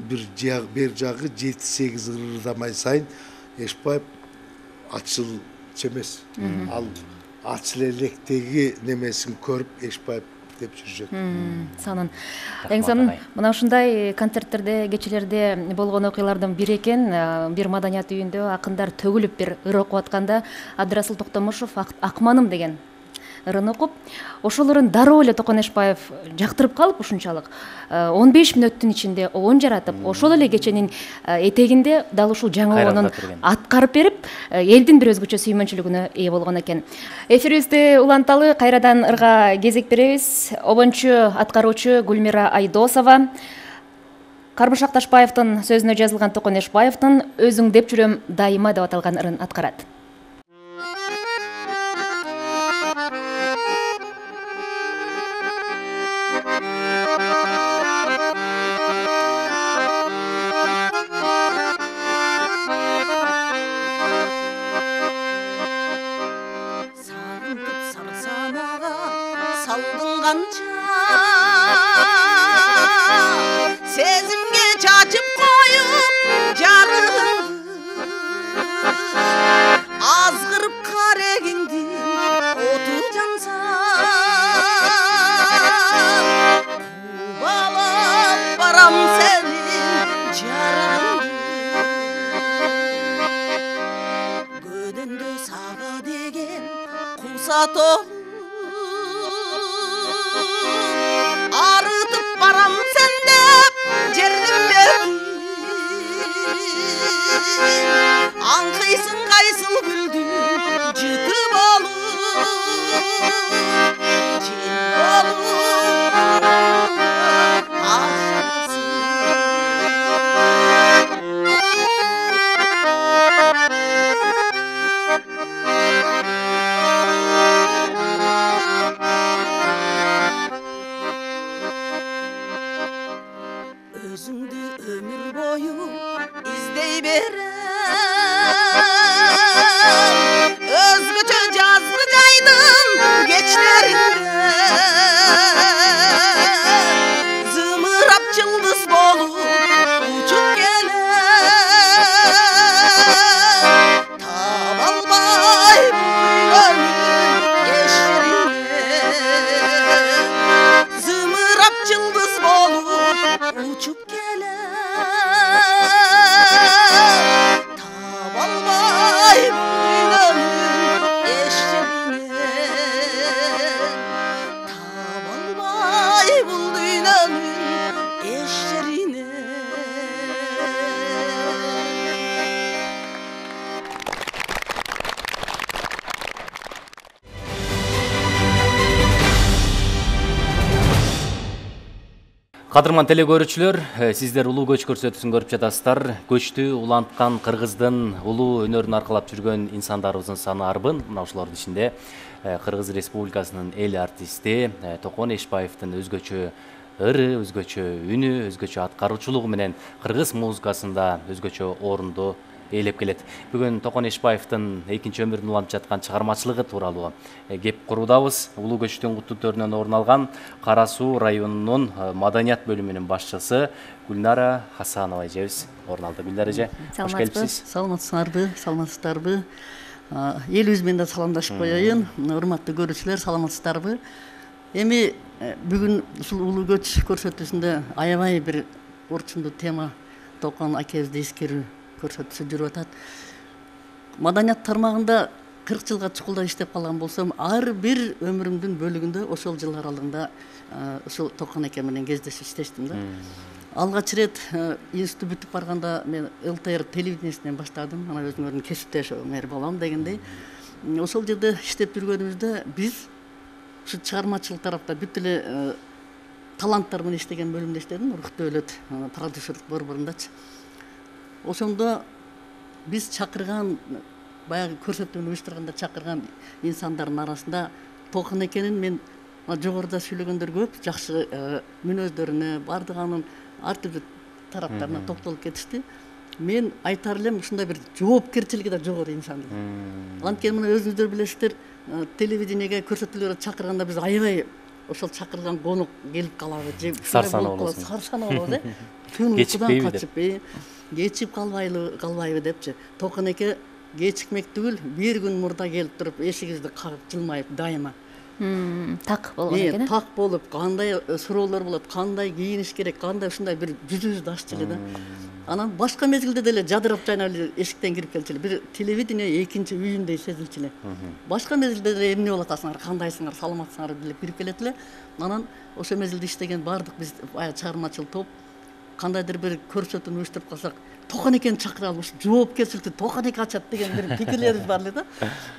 бир жагы, бер жагы жети сегиз ырдамай сайын Эшбаев ачылчу эмес. Ал ачыл электеги немесин көрүп Эшбаев деп жүрүшөт. Сонун. Эң сонун мына ушундай концерттерде, кечелерде болгон окуялардын бири экен. Бир маданият үйүндө акындар төгүлүп бир ыр окуп атканда Абдырасыл Токтомушев Акманым деген ырын окуп, ошол ырын дароо эле Токон Эшбаев жактырып калып ушунчалык он беш мүнөттүн ичинде оон жаратып, ошол эле кеченин этегинде дал ушул жаңы оонун аткарып берип, элдин бир өзгөчө сүймөнчүлүгүнө ээ болгон экен. Эфирибизди уланталы, кайрадан ырга кезек беребиз. Обончу аткаруучу Гүлмира Айдосова Карбыш Акташбаевдин сөзүнө жазылган Токон Эшбаевдин Өзүң деп жүрөм дайыма деп аталган ырын аткарат. калдың канча сезимге чачып коюп жарыңды азгырып карегиңди оту жанса кубалап барам сенин жарыңды көдөндө сага деген куса толуп арытып барам сен деп жердин бетин аңкыйсың кайсыл гүлдүн жыты болуп жел болуп ашасың өзүңдү өмүр бою издей берем өзгөчө жазгы жайдын кечтеринде зымырап жылдыз болуп учуп келем таба албай күйлөнүп эч жерине зымырап жылдыз болуп учуп келем таба албай күйлөнүп эч жерине таба албай бул дүйнөнүн эч жерине. Кадырман теле көрүүчүлөр, сиздер улуу көч көрсөтүүсүн көрүп жатасыздар. Көчтү уланткан Кыргыздын улуу өнөрүн аркалап жүргөн инсандарыбыздын саны арбын. Мына ошолордун ичинде Кыргыз Республикасынын эл артисти Токон Эшбаевдин өзгөчө ыры, өзгөчө үнү, өзгөчө аткаруучулугу менен кыргыз музыкасында өзгөчө орунду ээлеп келет. Бүгүн Токон Эшбаевдин экинчи өмүрүн улантып жаткан чыгармачылыгы тууралуу кеп куруудабыз. Улуу көчтүн куттуктөрүнөн орун алган Кара Суу районунун маданият бөлүмүнүн башчысы Гүлнара Хасанова эжебиз орун алды. Гүлнара эже, кош келипсиз. Саламатсыңарбы, саламатсыздарбы? Элибиз менен да саламдашып коеюн. Урматтуу көрүүчүлөр, саламатсыздарбы? Эми бүгүн ушул улуу көч көрсөтүүсүндө аябай бир орчундуу тема Токон акебизди эскерүү көрсөтүүсү жүрүп атат. Маданият тармагында кырк жылга чукулда иштеп калган болсом, ар бир өмүрүмдүн бөлүгүндө ошол жыл аралыгында ушул Токон эке менен кездешип иштештим да. Алгач ирет институт бүтүп барганда мен эл тэ эр телевидениесинен баштадым. Ана өзүңөрдүн кесиптеш мэр болом дегендей. Ошол жерде иштеп жүргөнүбүздө биз ушу чыгармачылык тарапта бүт эле таланттар менен иштеген бөлүмдө иштедим. Рух Дөөлөт продюсерлик борборундачы. Ошондо биз чакырган баягы көрсөтүүнү уюштурганда чакырган инсандардын арасында Токон экенин мен жогоруда сүйлөгөндөр көп, жакшы мүнөздөрүнө, баардык анын ар түрдүү тараптарына токтолуп кетишти. Мен айтар элем ушундай бир жоопкерчилиги да жогору инсан. Анткени мына өзүңүздөр билесиздер, телевидениеге көрсөтүүлөргө чакырганда биз аябай ошол чакырган конок келип калабы, же сарсанаа болобуз. Сарсанаа болобуз, э. Түн уйкудан качып, э. Кечип калбайлы, калбайбы депчи. Токон эке кечикмек түгүл, бир күн мурда келип туруп, эшигибизди кагып, жылмайып дайыма. Так болгон экен, э? Так болуп, кандай суроолор болот, кандай кийиниш керек, кандай ушундай бир жүзүбүздү аччы эле да. Анан башка мезгилде деле жадырап жайнап эле эшиктен кирип келчү эле. Бир телевидение экинчи үйүндөй сезилчү эле. Башка мезгилде деле эмне болуп атасыңар, кандайсыңар, саламатсыңар деп кирип келет эле. Анан ошол мезгилде иштеген баардык биз баягы чыгармачыл топ кандайдыр бир көрсөтүүнү уюштуруп калсак, Токон экени чакыралы, ушу жоопкерчиликти Токон эке ачат деген бир пикирлерибиз бар эле да.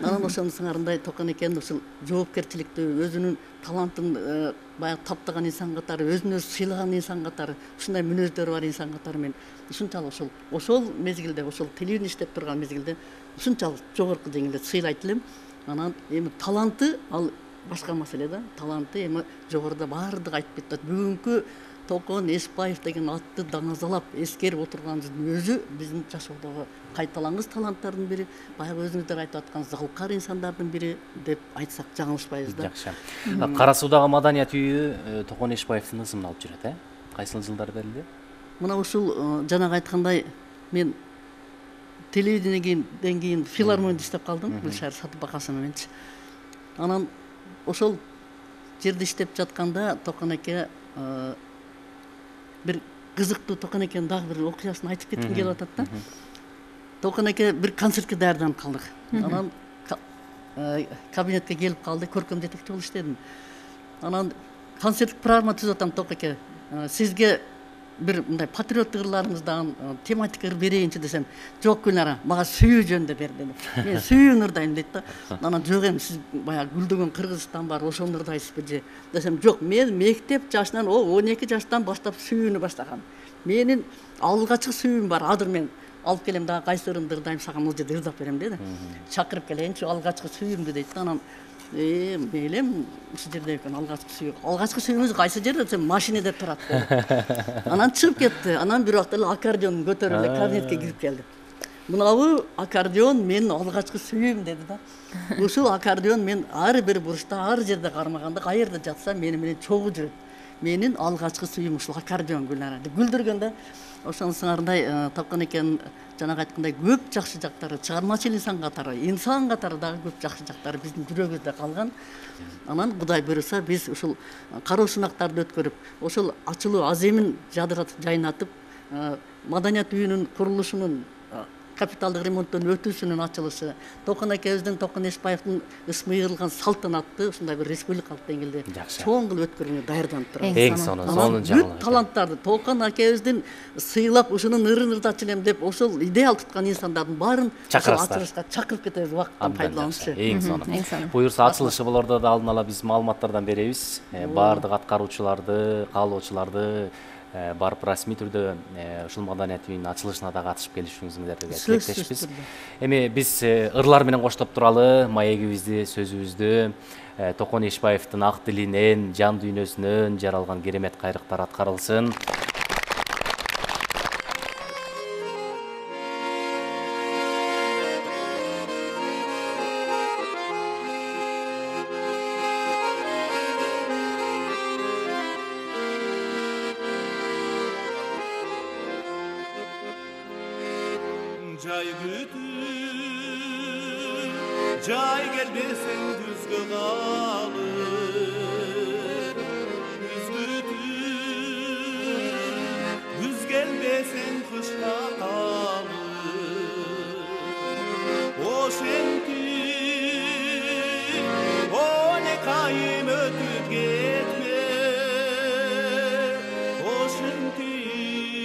Анан ошонун сыңарындай Токон экен ушул жоопкерчиликти, өзүнүн талантын баягы таптаган инсан катары, өзүн өзү сыйлаган инсан катары, ушундай мүнөздөрү бар инсан катары мен ушунчалык ошол ошол мезгилде, ошол телевидение иштеп турган мезгилде ушунчалык жогорку деңгээлде сыйлайт элем. Анан эми таланты ал башка маселе да. Таланты эми жогоруда баардык айтып кетти. Бүгүнкү Токон Эшбаев деген атты даңазалап эскерип отурганыбыздын өзү биздин жашоодогу кайталангыс таланттардын бири, баягы өзүңүздөр айтып аткан залкар инсандардын бири деп айтсак жаңылышпайбыз да. Жакшы. Кара Суудагы маданият үйү Токон Эшбаевдин ысымын алып жүрөт, э? Кайсыл жылдары берилди? Мына ушул жанагы айткандай мен телевидениеден кийин филармонияда иштеп калдым, Гүлшара Сатыбакасова мененчи. Анан ошол жерде иштеп жатканда Токон эке бир кызыктуу Токон экенин дагы бир окуясын айтып кетким келип атат да. Токон эке бир концертке даярданып калдык. Анан кабинетке келип калды, көркөм жетекчи болуп иштедим. Анан концерттик программа түзүп атам, Токон эке. Сизге бир мындай патриоттук ырларыңыздан тематика берейинчи десем, жок Гүлнара, мага сүйүү жөнүндө бер деди. Мен сүйүүнү ырдайм дейт да. Анан жок эми сиз баягы гүлдөгөн Кыргызстан бар, ошону ырдайсызбы же десем, жок, мен мектеп жашынан, он эки жаштан баштап сүйүүнү баштагам. Менин алгачкы сүйүүм бар, азыр мен алып келем дагы кайсы ырымды ырдайм, сага бул жерде ырдап берем деди. Чакырып келейинчи алгачкы сүйүүмдү дейт да. Анан Э, мейлем, ушул жерде экен алгачкы сүйүү. Алгачкы сүйүүңүз кайсы жерде десем, машинеде турат. Анан чыгып кетти. Анан бир убакта эле аккордеон көтөрүп эле кабинетке кирип келди. Мынабу аккордеон менин алгачкы сүйүүм деди да. Ушул аккордеон мен ар бир буручта, ар жерде кармаганда, каерде жатса мени менен чогуу жүрөт. Менин алгачкы сүйүүм ушул аккордеон Гүлнара деп күлдүргөндө. Ошонусуңардай Токон экенин жанагы айткандай көп жакшы жактары, чыгармачыл инсан катары, инсан катары дагы көп жакшы жактары биздин жүрөгүбүздө калган. Анан Кудай буйруса биз ушул кароо сынактарды өткөрүп, ошол ачылуу аземин жадыратып, жайнатып, маданият үйүнүн курулушунун капиталдык ремонттон өтүүсүнүн ачылышы, Токон экебиздин Токон Эшбаевдин ысмы ыйырылган салтанатты ушундай бир республикалык деңгээлде чоң кылып өткөрүүгө даярданып турабыз. Эң сонун, сонун жаңылык. Бүт таланттарды Токон экебиздин сыйлап ушунун ырын ырдачы элем деп ошол идеал туткан инсандардын баарын ачылышка чакырып кетебиз убакыттан пайдаланычы. Эң сонун. Буюрса ачылышы болордо да алдын ала биз маалыматтардан беребиз. Баардык аткаруучуларды, каалоочуларды барып расмий түрдө ушул маданият үйүнүн ачылышына да катышып келишиңиздерди тилектешпиз. Эми биз ырлар менен коштоп туралы маегибизди, сөзүбүздү Токон Эшбаевдин ак дилинен, жан дүйнөсүнөн жаралган керемет кайрыктар аткарылсын. Жай күтүп, жай келбесең күзгө калып, күз күтүп, күз келбесең кышка калып, ошентип он эки айым өтүп кетме, ошентип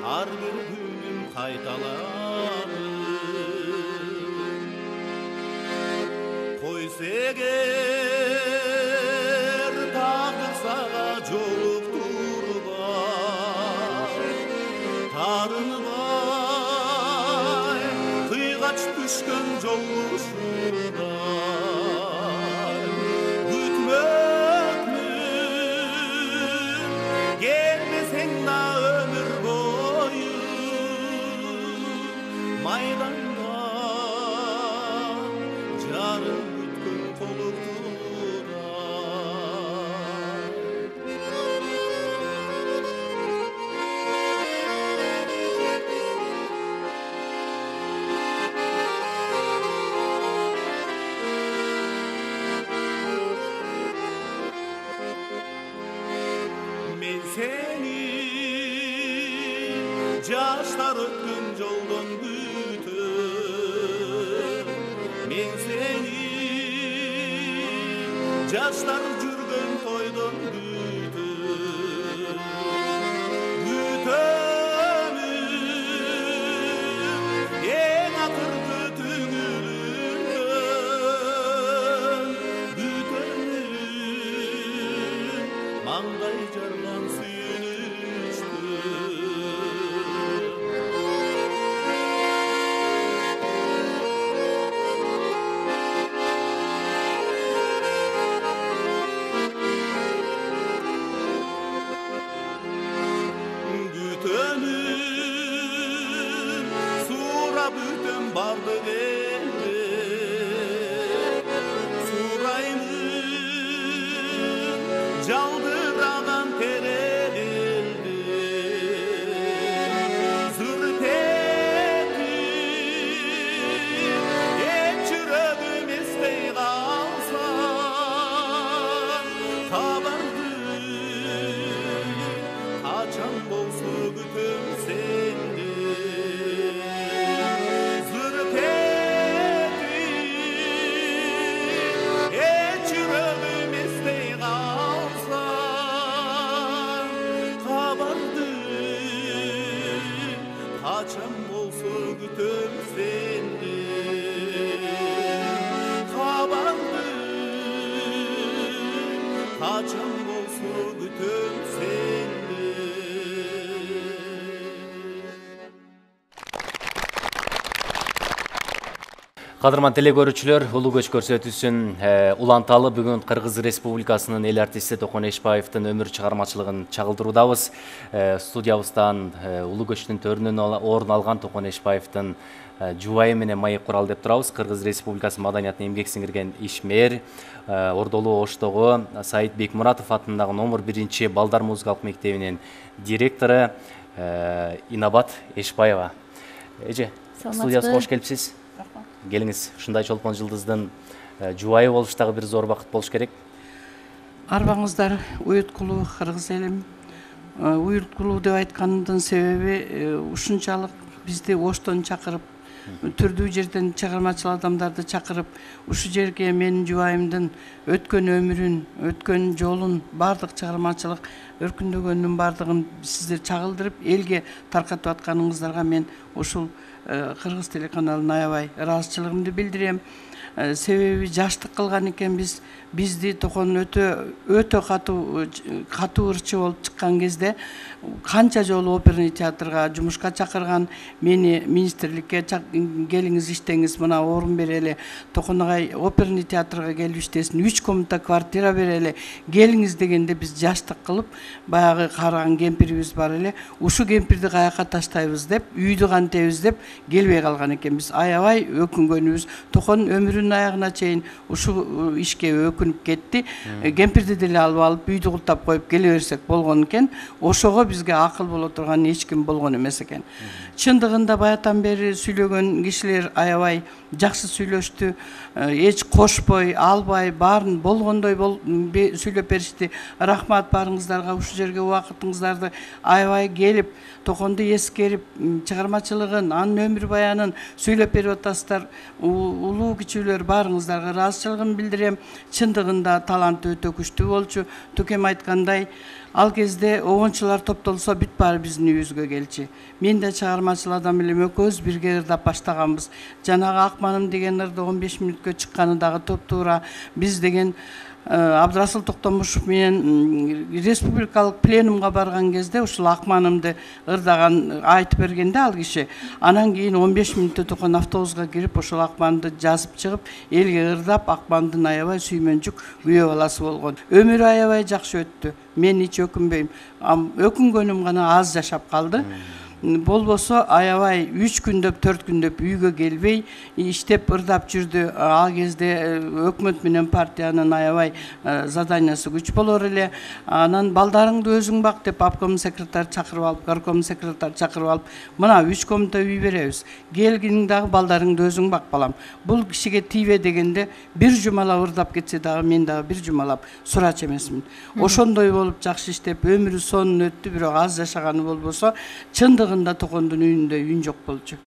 ар бир күнүм кайталанып, койсо эгер тагдыр сага жолуктурбай, тарынбай кыйгач түшкөн жолушудай күтмөкмүн, келбесең да өмүр бою майданда жарым бүткөн толуктудай. Мен сени жаштар өткөн жолдон күтөм, мен сени жаштар жүргөн тойдон күтөм, күтөмүн эң акыркы түңүлүмдөн, күтөмүн маңдай жарган сүйүнүчтөн. жалдыраған терелилди зүртетип эч жүрөгүм эстей калса кабарды качан болсо күтөм сенди зүртетип эч жүрөгүм эстей калса кабарды качан болсо күтөм сенди кабарды качан болсо күтөм сенди. Кадырман теле көрүүчүлөр, улуу көч көрсөтүүсүн уланталы бүгүн Кыргыз Республикасынын эл артисти Токон Эшбаевдин өмүр чыгармачылыгын чагылдыруудабыз. Студиябыздан улуу көчтүн төрүнөн орун алган Токон Эшбаевдин жубайы менен маек куралы деп турабыз. Кыргыз Республикасы маданиятына эмгек сиңирген ишмер, Ордолуу Оштогу Саид Бекмуратов атындагы номер биринчи балдар музыкалык мектебинин директору Инабат Эшбаева. Эже, студиябызга кош келипсиз. Келиңиз, ушундай чолпон жылдыздын жубайы болуш дагы бир зор бакыт болуш керек. Арбаңыздар уюткулуу кыргыз элим. Уюткулуу деп айтканымдын себеби ушунчалык бизди Оштон чакырып, түрдүү жерден чыгармачыл адамдарды чакырып, ушу жерге менин жубайымдын өткөн өмүрүн, өткөн жолун, бардык чыгармачылык өркүндөгөнүнүн бардыгын сиздер чагылдырып, элге таркатып атканыңыздарга мен ушул Кыргыз телеканалына аябай ыраазычылыгымды билдирем. Себеби жаштык кылган экенбиз. Бизди Токон өтө өтө катуу катуу ырчы болуп чыккан кезде канча жолу оперный театрга жумушка чакырган, мени министрликке келиңиз иштеңиз, мына орун берели, Токон агай оперный театрга келип иштесин, үч комната квартира берели, келиңиз дегенде биз жаштык кылып, баягы караган кемпирибиз бар эле, ушу кемпирди каяка таштайбыз деп, үйдү кантебиз деп келбей калган экенбиз. Аябай өкүнгөнүбүз. Токон өмүрүнүн аягына чейин ушу ишке өкүнүп кетти. Кемпирди деле алып алып үйдү култап коюп келе берсек болгон экен. Ошого бизге акыл боло турган эч ким болгон эмес экен. Чындыгында баятан бери сүйлөгөн кишилер аябай жакшы сүйлөштү. Эч кошпой, албай, баарын болгондой сүйлөп беришти. Рахмат баарыңыздарга, ушу жерге убакытыңыздарды аябай келип, Токонду эскерип, чыгармачылыгын, анын өмүр баянын сүйлөп берип атасыздар. Улуу кичүүлөр баарыңыздарга ыраазычылыгымды билдирем. Чындыгында таланты өтө күчтүү болчу. Төкем айткандай, ал кезде обончулар топтолсо бүт баары биздин үйүбүзгө келчи. Мен да чыгармачыл адам элем, экөөбүз бирге ырдап баштаганбыз. Жанагы Акманым деген ырды он беш мүнөткө чыкканы дагы топтуура. Биз деген Абдрасыл Токтомушев менен республикалык пленумга барган кезде ушул Акманымды ырдаган айтып бергенде ал киши, анан кийин он беш мүнөттө Токон автобуска кирип ушул Акманды жазып чыгып, элге ырдап, Акмандын аябай сүймөнчүк күйөө баласы болгон. Өмүрү аябай жакшы өттү. Мен эч өкүнбөйм. Өкүнгөнүм гана аз жашап калды. Болбосо аябай үч күндөп, төрт күндөп үйгө келбей иштеп ырдап жүрдү. Ал кезде өкмөт менен партиянын аябай заданиясы күч болор эле. Анан балдарыңды өзүң бак деп обком секретарь чакырып алып, горком секретарь чакырып алып, мына үч комната үй беребиз. Келгиниң дагы балдарыңды өзүң бак балам. Бул кишиге тийбе дегенде бир жумалап ырдап кетсе дагы мен дагы бир жумалап сурач эмесмин. Ошондой болуп жакшы иштеп өмүрү сонун өттү, бирок аз жашаганы болбосо чындыгында Токондун үйүндө үйүн жок болчу.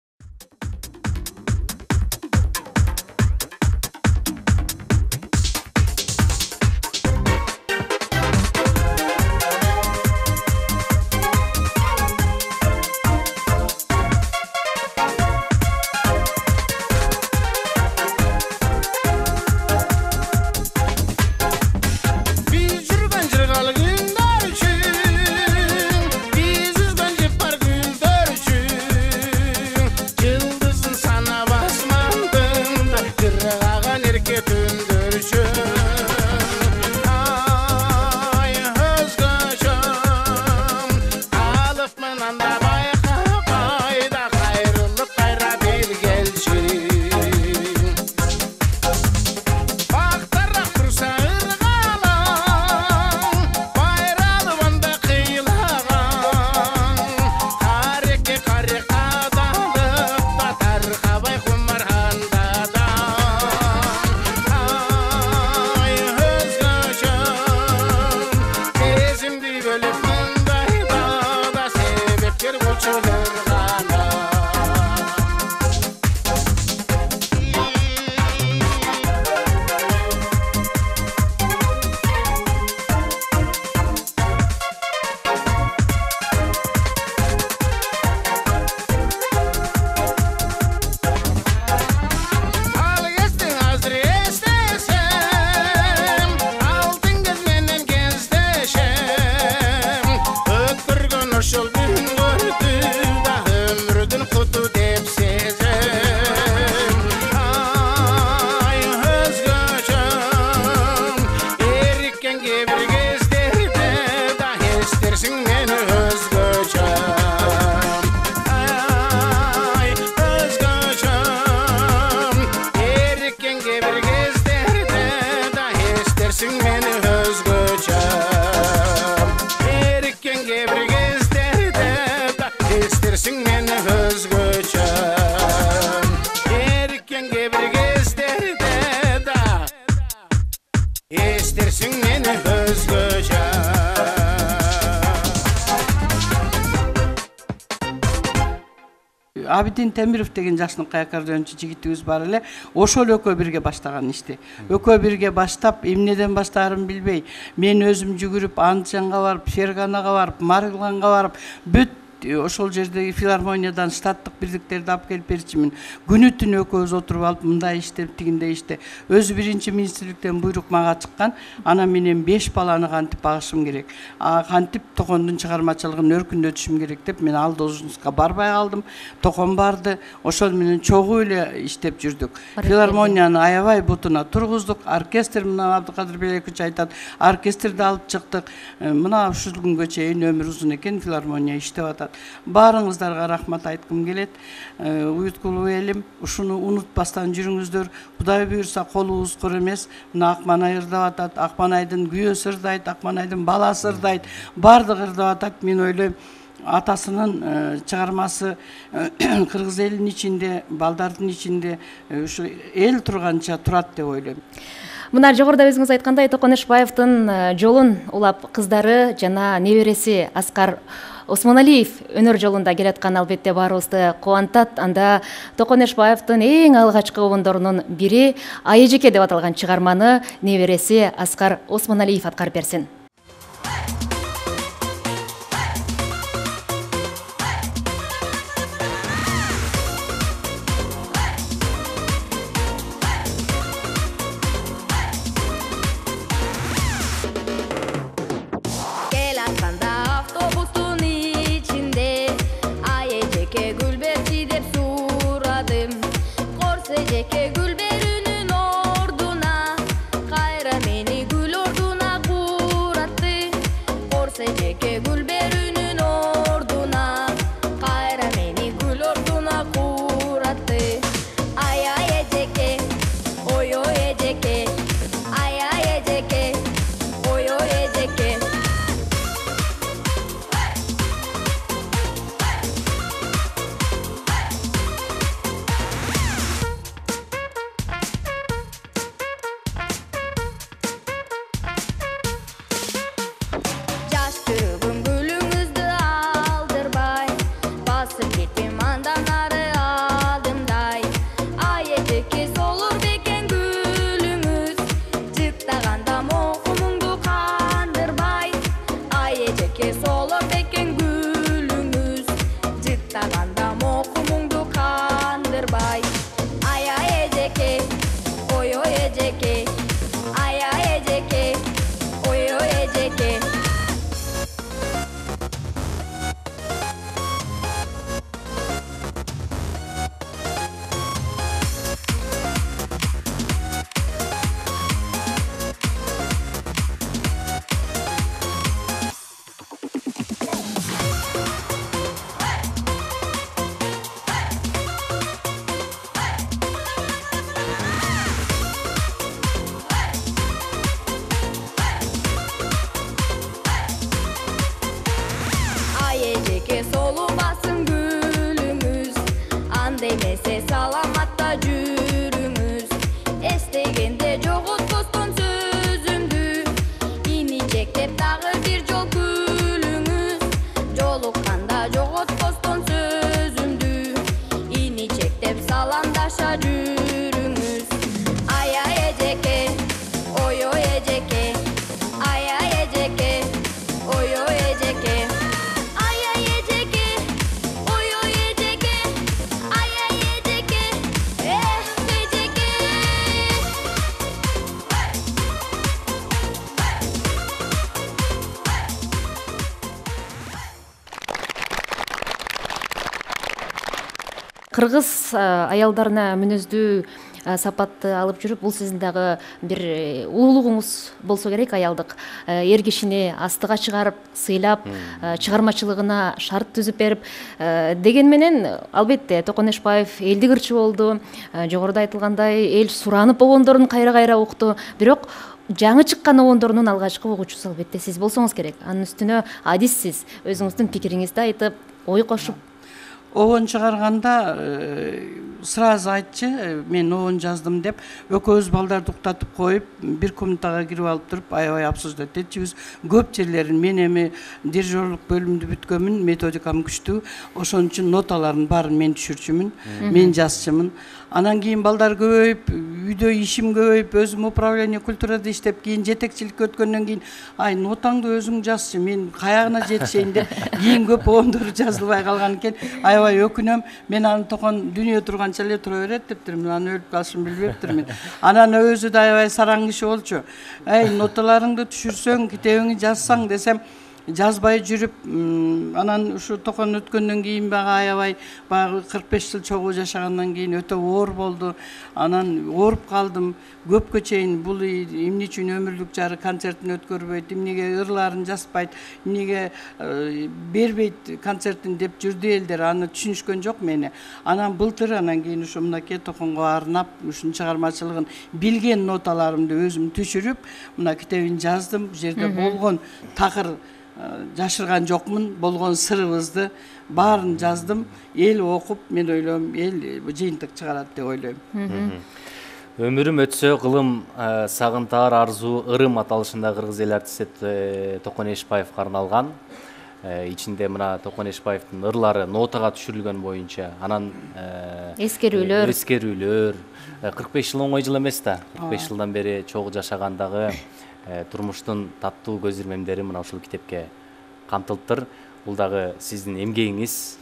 Абидин Темиров деген жакшыныкай аккордеончу жигитибиз бар эле, ошол экөө бирге баштаган ишти. Экөө бирге баштап, эмнеден баштаарын билбей, мен өзүм жүгүрүп Андижанга барып, Ферганага барып, Марилганга барып, бүт ошол жердеги филармониядан штаттык бирдиктерди алып келип берчимин. Күнү түнү экөөбүз отуруп алып, мындай иштеп, тигиндей иште. Өзү биринчи министрликтен буйрук мага чыккан, ана менен беш баланы кантип багышым керек, а кантип Токондун чыгармачылыгын өркүндөтүшүм керек деп мен ал должностка барбай калдым. Токон барды, ошол менен чогуу эле иштеп жүрдүк. Филармонияны аябай бутуна тургуздук, оркестр мына Абдыкадыр Белекович айтат, оркестрди алып чыктык. Мына ушул күнгө чейин өмүр узун экен, филармония иштеп атат. Баарыңыздарга рахмат айткым келет. Уюткулуу элим, ушуну унутпастан жүрүңүздөр. Кудай буйрса колубуз кур эмес. Мына Акманай ырдап атат, Акманайдын күйөөсү ырдайт, Акманайдын баласы ырдайт, баардыгы ырдап атат. Мен ойлойм, атасынын чыгармасы кыргыз элинин ичинде, балдардын ичинде ушу эл турганча турат деп ойлойм. Мына жогоруда өзүңүз айткандай, Токон Эшбаевдин жолун улап кыздары жана небереси Аскар Осмоналиев өнөр жолунда келаткан албетте баарыбызды кубантат. Анда Токон Эшбаевдин эң алгачкы обондорунун бири Айэжеке деп аталган чыгарманы небереси Аскар Осмоналиев аткарып берсин. Кыргыз аялдарына мүнөздүү сапатты алып жүрүп, бул сиздин дагы бир улуулугуңуз болсо керек. Аялдык эр кишини астыга чыгарып, сыйлап, чыгармачылыгына шарт түзүп берип, деген менен албетте Токон Эшбаев элдик ырчы болду. Жогоруда айтылгандай, эл суранып обондорун кайра-кайра укту. Бирок жаңы чыккан обондорунун алгачкы угуучусу албетте сиз болсоңуз керек. Анын үстүнө адиссиз, өзүңүздүн пикириңизди айтып, ой кошуп. обон чыгарганда сразу айтчы, мен обон жаздым деп, экөөбүз балдарды уктатып коюп, бир комнатага кирип алып туруп, аябай обсуждать этчүбүз. Көп жерлерин мен эми дирижерлук бөлүмдү бүткөнмүн, методикам күчтүү. Ошон үчүн ноталардын баарын мен түшүрчүмүн, мен жазчымын. Анан кийин балдар көбөйүп, үйдө ишим көбөйүп, өзүм управление культурада иштеп, кийин жетекчиликке өткөндөн кийин, ай, нотаңды өзүң жазчы, мен каягына жетишейин деп, кийин көп обондор жазылбай калган экен. Аябай өкүнөм. Мен аны токон дүнүйө турганча эле тура берет дептирмин. Аны өлүп калышын билбептирмин. Анан өзү да аябай сараң киши болчу. Ай, ноталарыңды түшүрсөң, китебиңди жазсаң десем, жазбай жүрүп, анан ушу токон өткөндөн кийин бага аябай баягы кырк беш жыл чогуу жашагандан кийин өтө оор болду. Анан ооруп калдым. Көпкө чейин бул эмне үчүн өмүрлүк жары концертин өткөрбөйт, эмнеге ырларын жазбайт, эмнеге бербейт концертин деп жүрдү элдер. Аны түшүнүшкөн жок мени. Анан былтыр анан кийин ушу мынакей токонго арнап, ушунун чыгармачылыгын билген ноталарымды өзүм түшүрүп, мына китебин жаздым. Бул жерде болгон такыр жашырган жокмун, болгон сырыбызды баарын жаздым. Эл окуп, мен ойлойм, эл жыйынтык чыгарат деп ойлойм. Өмүрүм өтсө кылым сагынтаар арзуу ырым аталышында кыргыз эл артисти Токон Эшбаевге арналган. Ичинде мына Токон Эшбаевдин ырлары нотага түшүрүлгөн боюнча, анан эскерүүлөр эскерүүлөр кырк беш жыл оңой жыл эмес да. кырк беш жылдан бери чогуу жашагандагы турмуштун таттуу көз ирмемдери мына ушул китепке камтылыптыр. Бул дагы сиздин эмгегиңиз.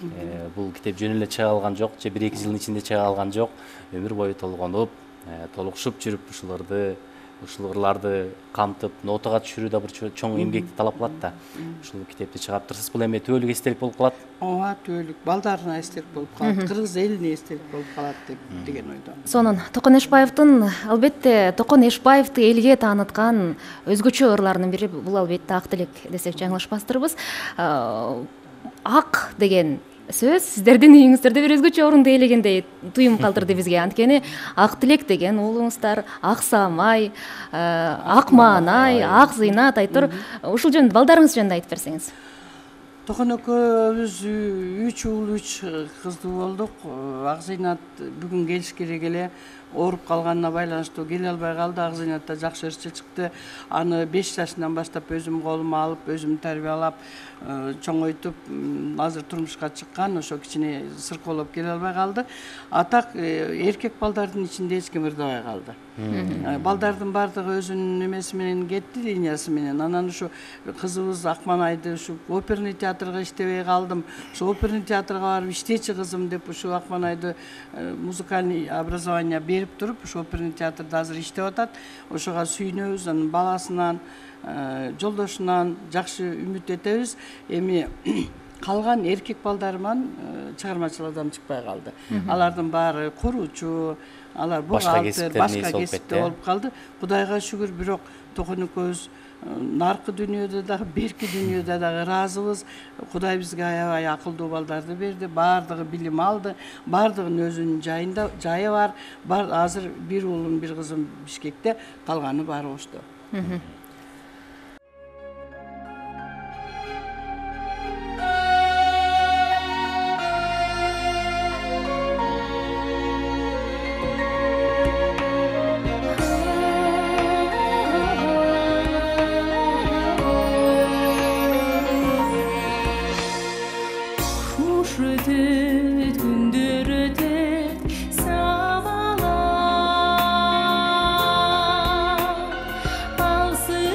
Бул китеп жөн эле чыга алган жок, же бир эки жылдын ичинде чыга алган жок. Өмүр бою толгонуп, толукшуп жүрүп ушуларды, ушул ырларды камтып, нотага түшүрүү да бир чоң эмгекти талап кылат да. Ушул китепти чыгарыптырсыз. Бул эми түбөлүк эстелик болуп калат. Ооба, түбөлүк балдарына эстелик болуп калат, кыргыз элине эстелик болуп калат деп деген ойдомун. Сонун Токон Эшбаевдин, албетте Токон Эшбаевди элге тааныткан өзгөчө ырларынын бири бул албетте Ак тилек десек жаңылышпастырбыз. Ак деген сөз сиздердин үйүңүздөрдө бир өзгөчө орунду ээлегендей туюм калтырды бизге. Анткени Ак тилек деген уулуңуздар ак самай, ак маанай, ак зыйнат айтыр. Ушул жөнүндө балдарыңыз жөнүндө айтып берсеңиз. Токон экөөбүз үч уул, үч кыздуу болдук. Ак зыйнат бүгүн келиш керек эле, ооруп калганына байланыштуу келе албай калды. Ак зыйнат да жакшы ырчы чыкты. Аны беш жашынан баштап өзүм колума алып, өзүм тарбиялап, чоңойтуп, азыр турмушка чыккан. Ошо кичине сыркоолоп келе албай калды. А так эркек балдардын ичинде эч ким ырдабай калды. Балдардын баардыгы өзүнүн эмеси менен кетти, линиясы менен. Анан ушу кызыбыз Акманайды ушу оперный театрга иштебей калдым. Ушу оперный театрга барып иштечи кызым деп ушу Акманайды музыкальный образование берип туруп, ушу оперный театрда азыр иштеп атат. Ошого сүйүнөбүз, анын баласынан, жолдошунан жакшы үмүт этебиз. Эми калган эркек балдарыман чыгармачыл адам чыкпай калды. Алардын баары куруучу, алар бухгалтер, башка кесипте болуп калды. Кудайга шүгүр, бирок Токон экөөбүз наркы дүйнөдө дагы, берки дүйнөдө дагы ыраазыбыз. Кудай бизге аябай акылдуу балдарды берди. Баардыгы билим алды. Баардыгынын өзүнүн жайында жайы бар. Бар азыр бир уулум, бир кызым Бишкекте, калганы баары Ошто. Алсы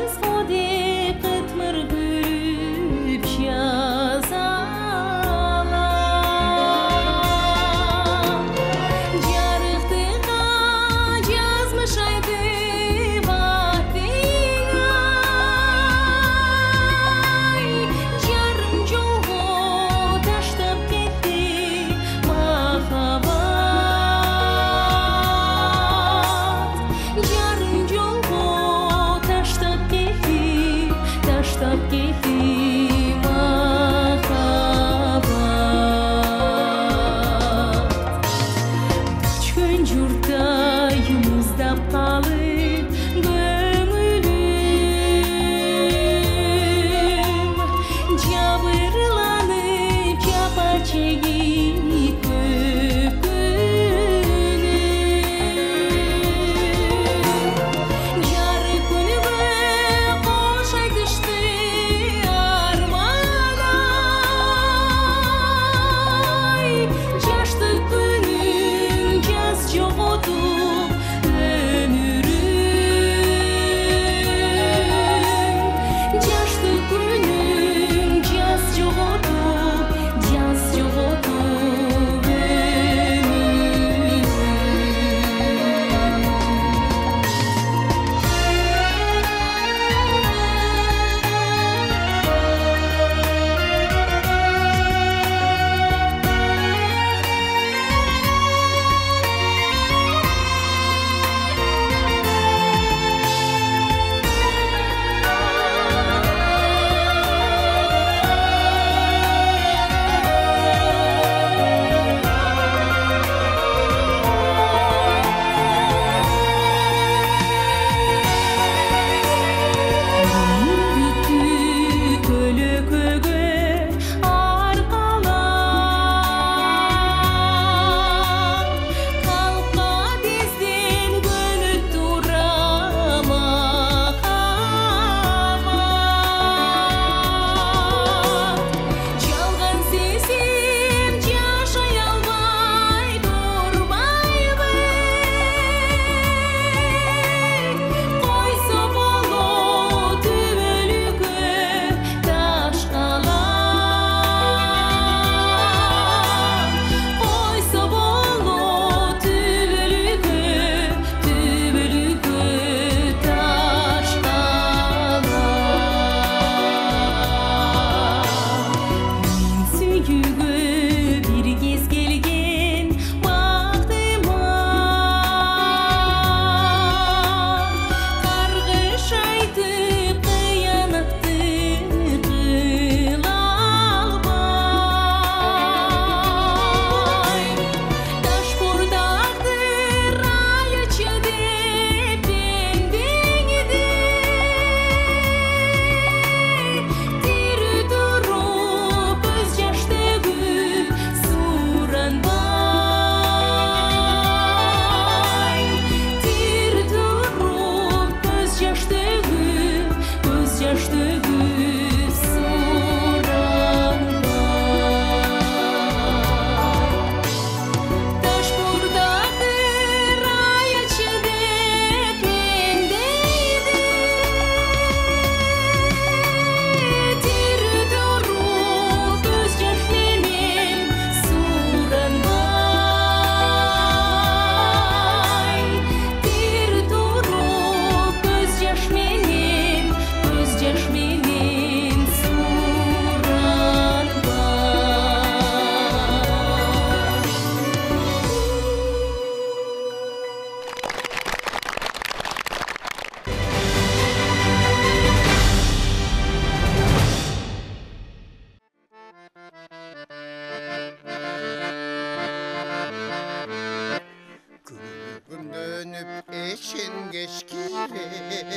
эшенгеш кирер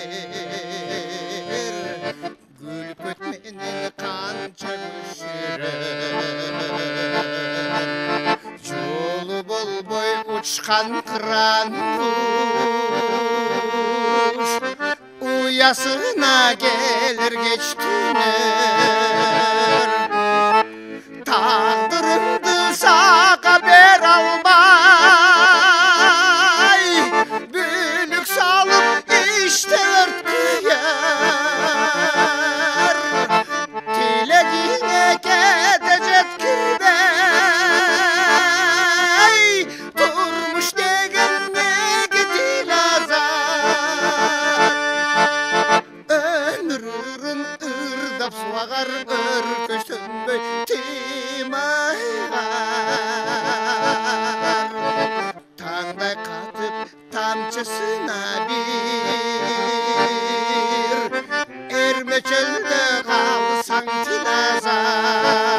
күлпөт менен канча көшүрөр жолу болбой учкан кыран куш уясына келер кеч түнөр тагдырымды сага бере албай бүлүк салып иште өрткүер тилегиңе кете жеткирбей турмуш деген неге тилазат өмүрүн ырдап суагар өркөштөнбөй тыймайгар таңдай катып тамчысына бир эрме чөлдө калсаң тилазар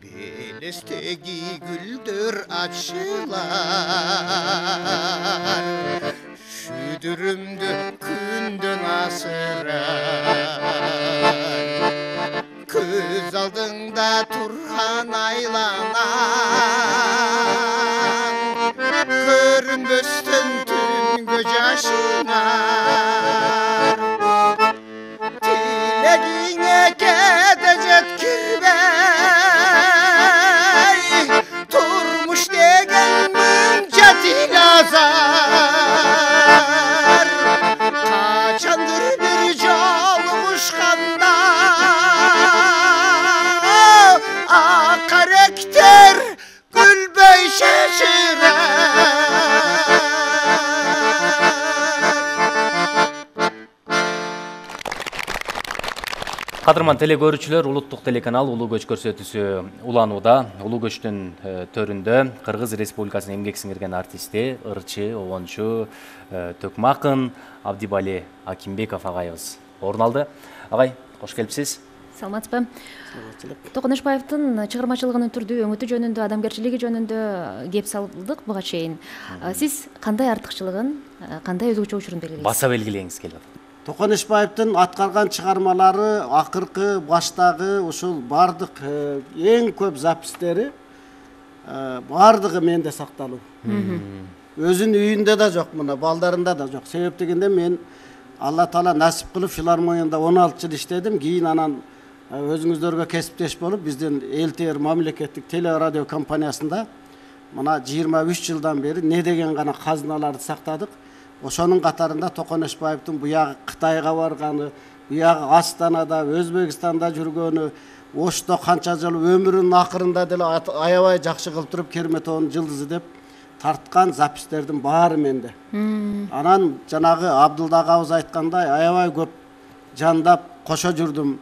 белестеги гүлдөр ачылар шүдүрүмдү күндөн асырар көз алдыңда турган айланаң көрүнбөстөн түнгө жашынар тилегиңе кете жеткирбей турмуш деген мынча тилазар качандыр бир жолугушканда акаректер күлбөй шашырар Кадырман теле көрүүчүлөр, улуттук телеканал Улуу көч көрсөтүүсү уланууда. Улуу көчтүн төрүндө Кыргыз Республикасынын эмгек сиңирген артисти, ырчы, обончу, төкмө акын Абдибали Акимбеков агайыбыз орун алды. Агай, кош келипсиз. Саламатсызбы? Токон Эшбаевдин чыгармачылыгынын түрдүү өңүтү жөнүндө, адамгерчилиги жөнүндө кеп салдык буга чейин. Сиз кандай артыкчылыгын, кандай өзгөчөлүгүн белгилейсиз? Баса белгилеңиз келип атат. Токон Эшбаевдин аткарган чыгармалары, акыркы, баштагы ушул бардык эң көп запистери бардыгы менде сакталуу. Өзүнүн үйүндө да жок, мына балдарында да жок. Себеп дегенде мен Алла Таала насип кылып филармонияда он алты жыл иштедим. Кийин анан өзүңүздөргө кесиптеш болуп, биздин эл тэ эр мамлекеттик теле радио компаниясында мына жыйырма үч жылдан бери не деген гана казыналарды сактадык. Ошонун катарында Токон Эшбаевдин буягы Кытайга барганы, буягы Астанада, Өзбекстанда жүргөнү, Ошто канча жыл өмүрүнүн акырында деле аябай жакшы кылып туруп Керметовдун жылдызы деп тарткан запистердин баары менде. Анан жанагы Абдылда агабыз айткандай аябай көп жандап кошо жүрдүм.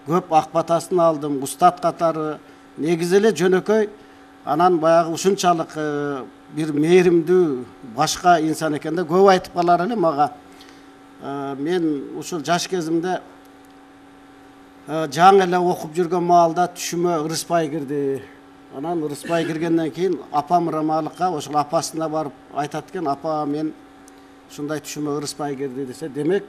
Көп ак батасын алдым, устат катары. Негизи эле жөнөкөй анан баягы ушунчалык бир мээримдүү башка инсан экенде көп айтып калар эле мага. Мен ушул жаш кезимде жаңы эле окуп жүргөн маалда түшүмө ырыспай кирди. Анан ырыспай киргенден кийин апам рамалыкка ошол апасына барып айтат экен, апа мен ушундай түшүмө ырыспай кирди десе, демек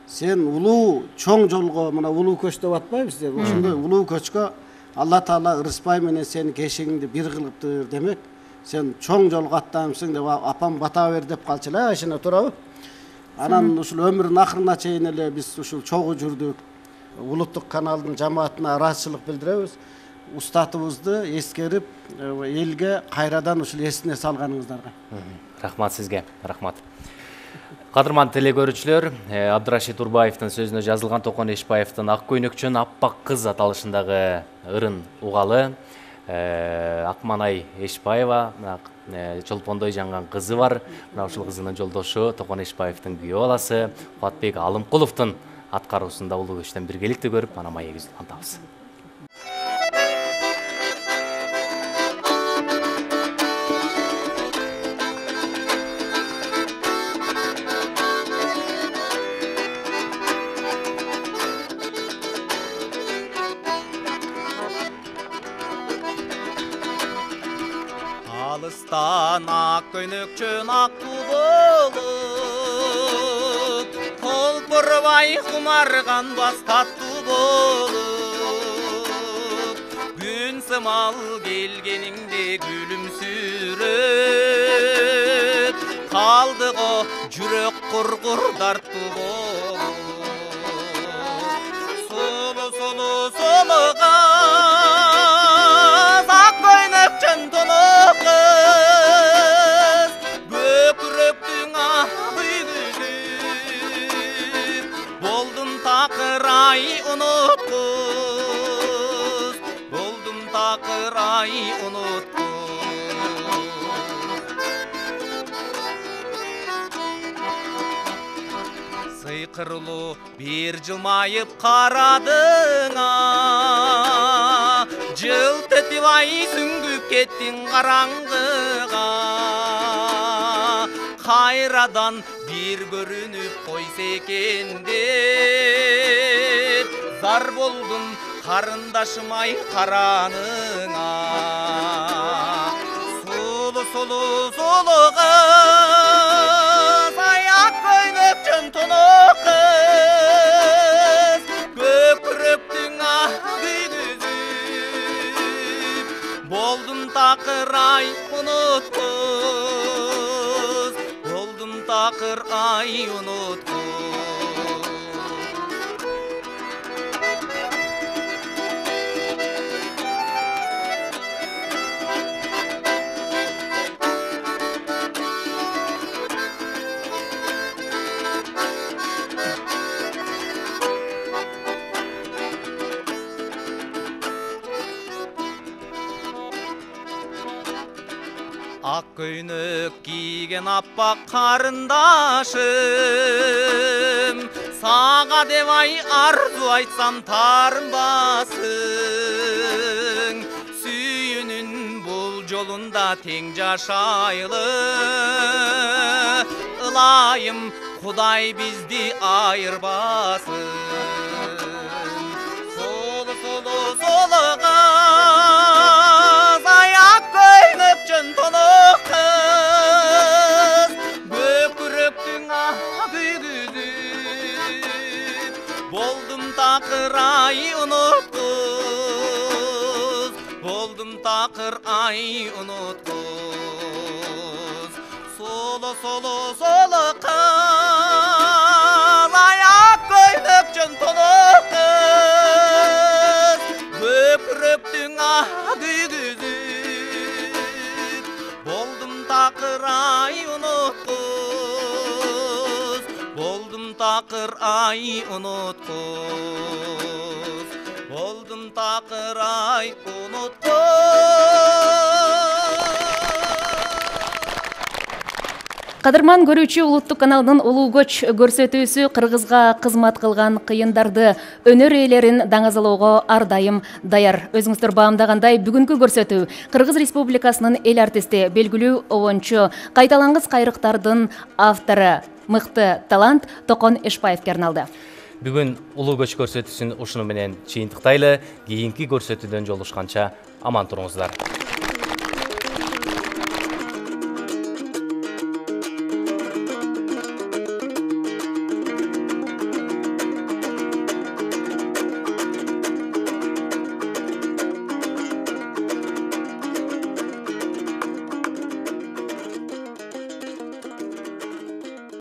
сен улуу чоң жолго, мына улуу көч деп атпайбыз деп, ошондой улуу көчкө Алла Таала ырыспай менен сени кешигиңди бир кылыптыр, демек сен чоң жолго аттанымсың деп апам бата бер деп калчу эле, ишине туурабы? Анан ушул өмүрүнүн акырына чейин эле биз ушул чогуу жүрдүк. Улуттук каналдын жамаатына ыраазычылык билдиребиз. Устатыбызды эскерип, элге кайрадан ушул эсине салганыңыздарга. Рахмат сизге, рахмат. Кадырман теле көрүүчүлөр, Абдырашид Урбаевдин сөзүнө жазылган Токон Эшбаевдин Ак көйнөкчөн аппак кыз аталышындагы ырын угалы. Акманай Эшбаева, чолпондой жанган кызы бар. Мына ушул кызынын жолдошу Токон Эшбаевдин күйөө баласы Кубатбек Алымкуловдун аткаруусунда улуу көчтөн биргеликте көрүп, ана маегибизди антабыз. жашаган ак көйнөкчөн актуу болуп толпурбай кумарганбас таттуу болуп күн сымал келгениңде күлүмсүрөп калды го жүрөк кургур дартуу болуп сулуу сулуу сулуу кыз ак көйнөкчөн тоноо кыз көкүрөктүң аты күзүп болдум такыр ай унуткуз болдум такыр ай унуткуз сыйкырлуу бир жылмайып карадыңа жылт этип ай сүңгүп кеттиң караңгыга кайрадан бир көрүнүп койсо экен деп зар болдум карындашым ай караныңа сулуу сулуу сулуу кыз ай ак көйнөкчөн тоноо кыз көкүрөктүң аты күзүп болдум такыр ай унуткуз болдум такыр ай унуткуз ак көйнөк кийген аппак карындашым сага деп ай арзу айтсам таарынбасың сүйүүнүн бул жолунда тең жашайлы ылайым Кудай бизди айырбасын солу солу солу кыз ай ак көйнөкчөн тоноо кыз көкүрөктүң аты күзүп болдум такыр ай унуткуз болдум такыр ай унуткуз солу солу солу кыз ай ак көйнөкчөн тоноо кыз көкүрөктүң аты күзүп болдум такыр ай унуткуз болдум такыр ай унуткуз болдум такыр ай унуткуз. Кадырман көрүүчү улуттук каналынын улуу көч көрсөтүүсү кыргызга кызмат кылган кыйындарды, өнөр ээлерин даңазалоого ар дайым даяр. Өзүңүздөр баамдагандай бүгүнкү көрсөтүү Кыргыз Республикасынын эл артисти, белгилүү обончу, кайталангыс кайрыктардын автору, мыкты талант Токон Эшпаевге арналды. Бүгүн улуу көч көрсөтүүсүн ушуну менен чыйынтыктайлы. Кийинки көрсөтүүдөн жолугушканча аман туруңуздар.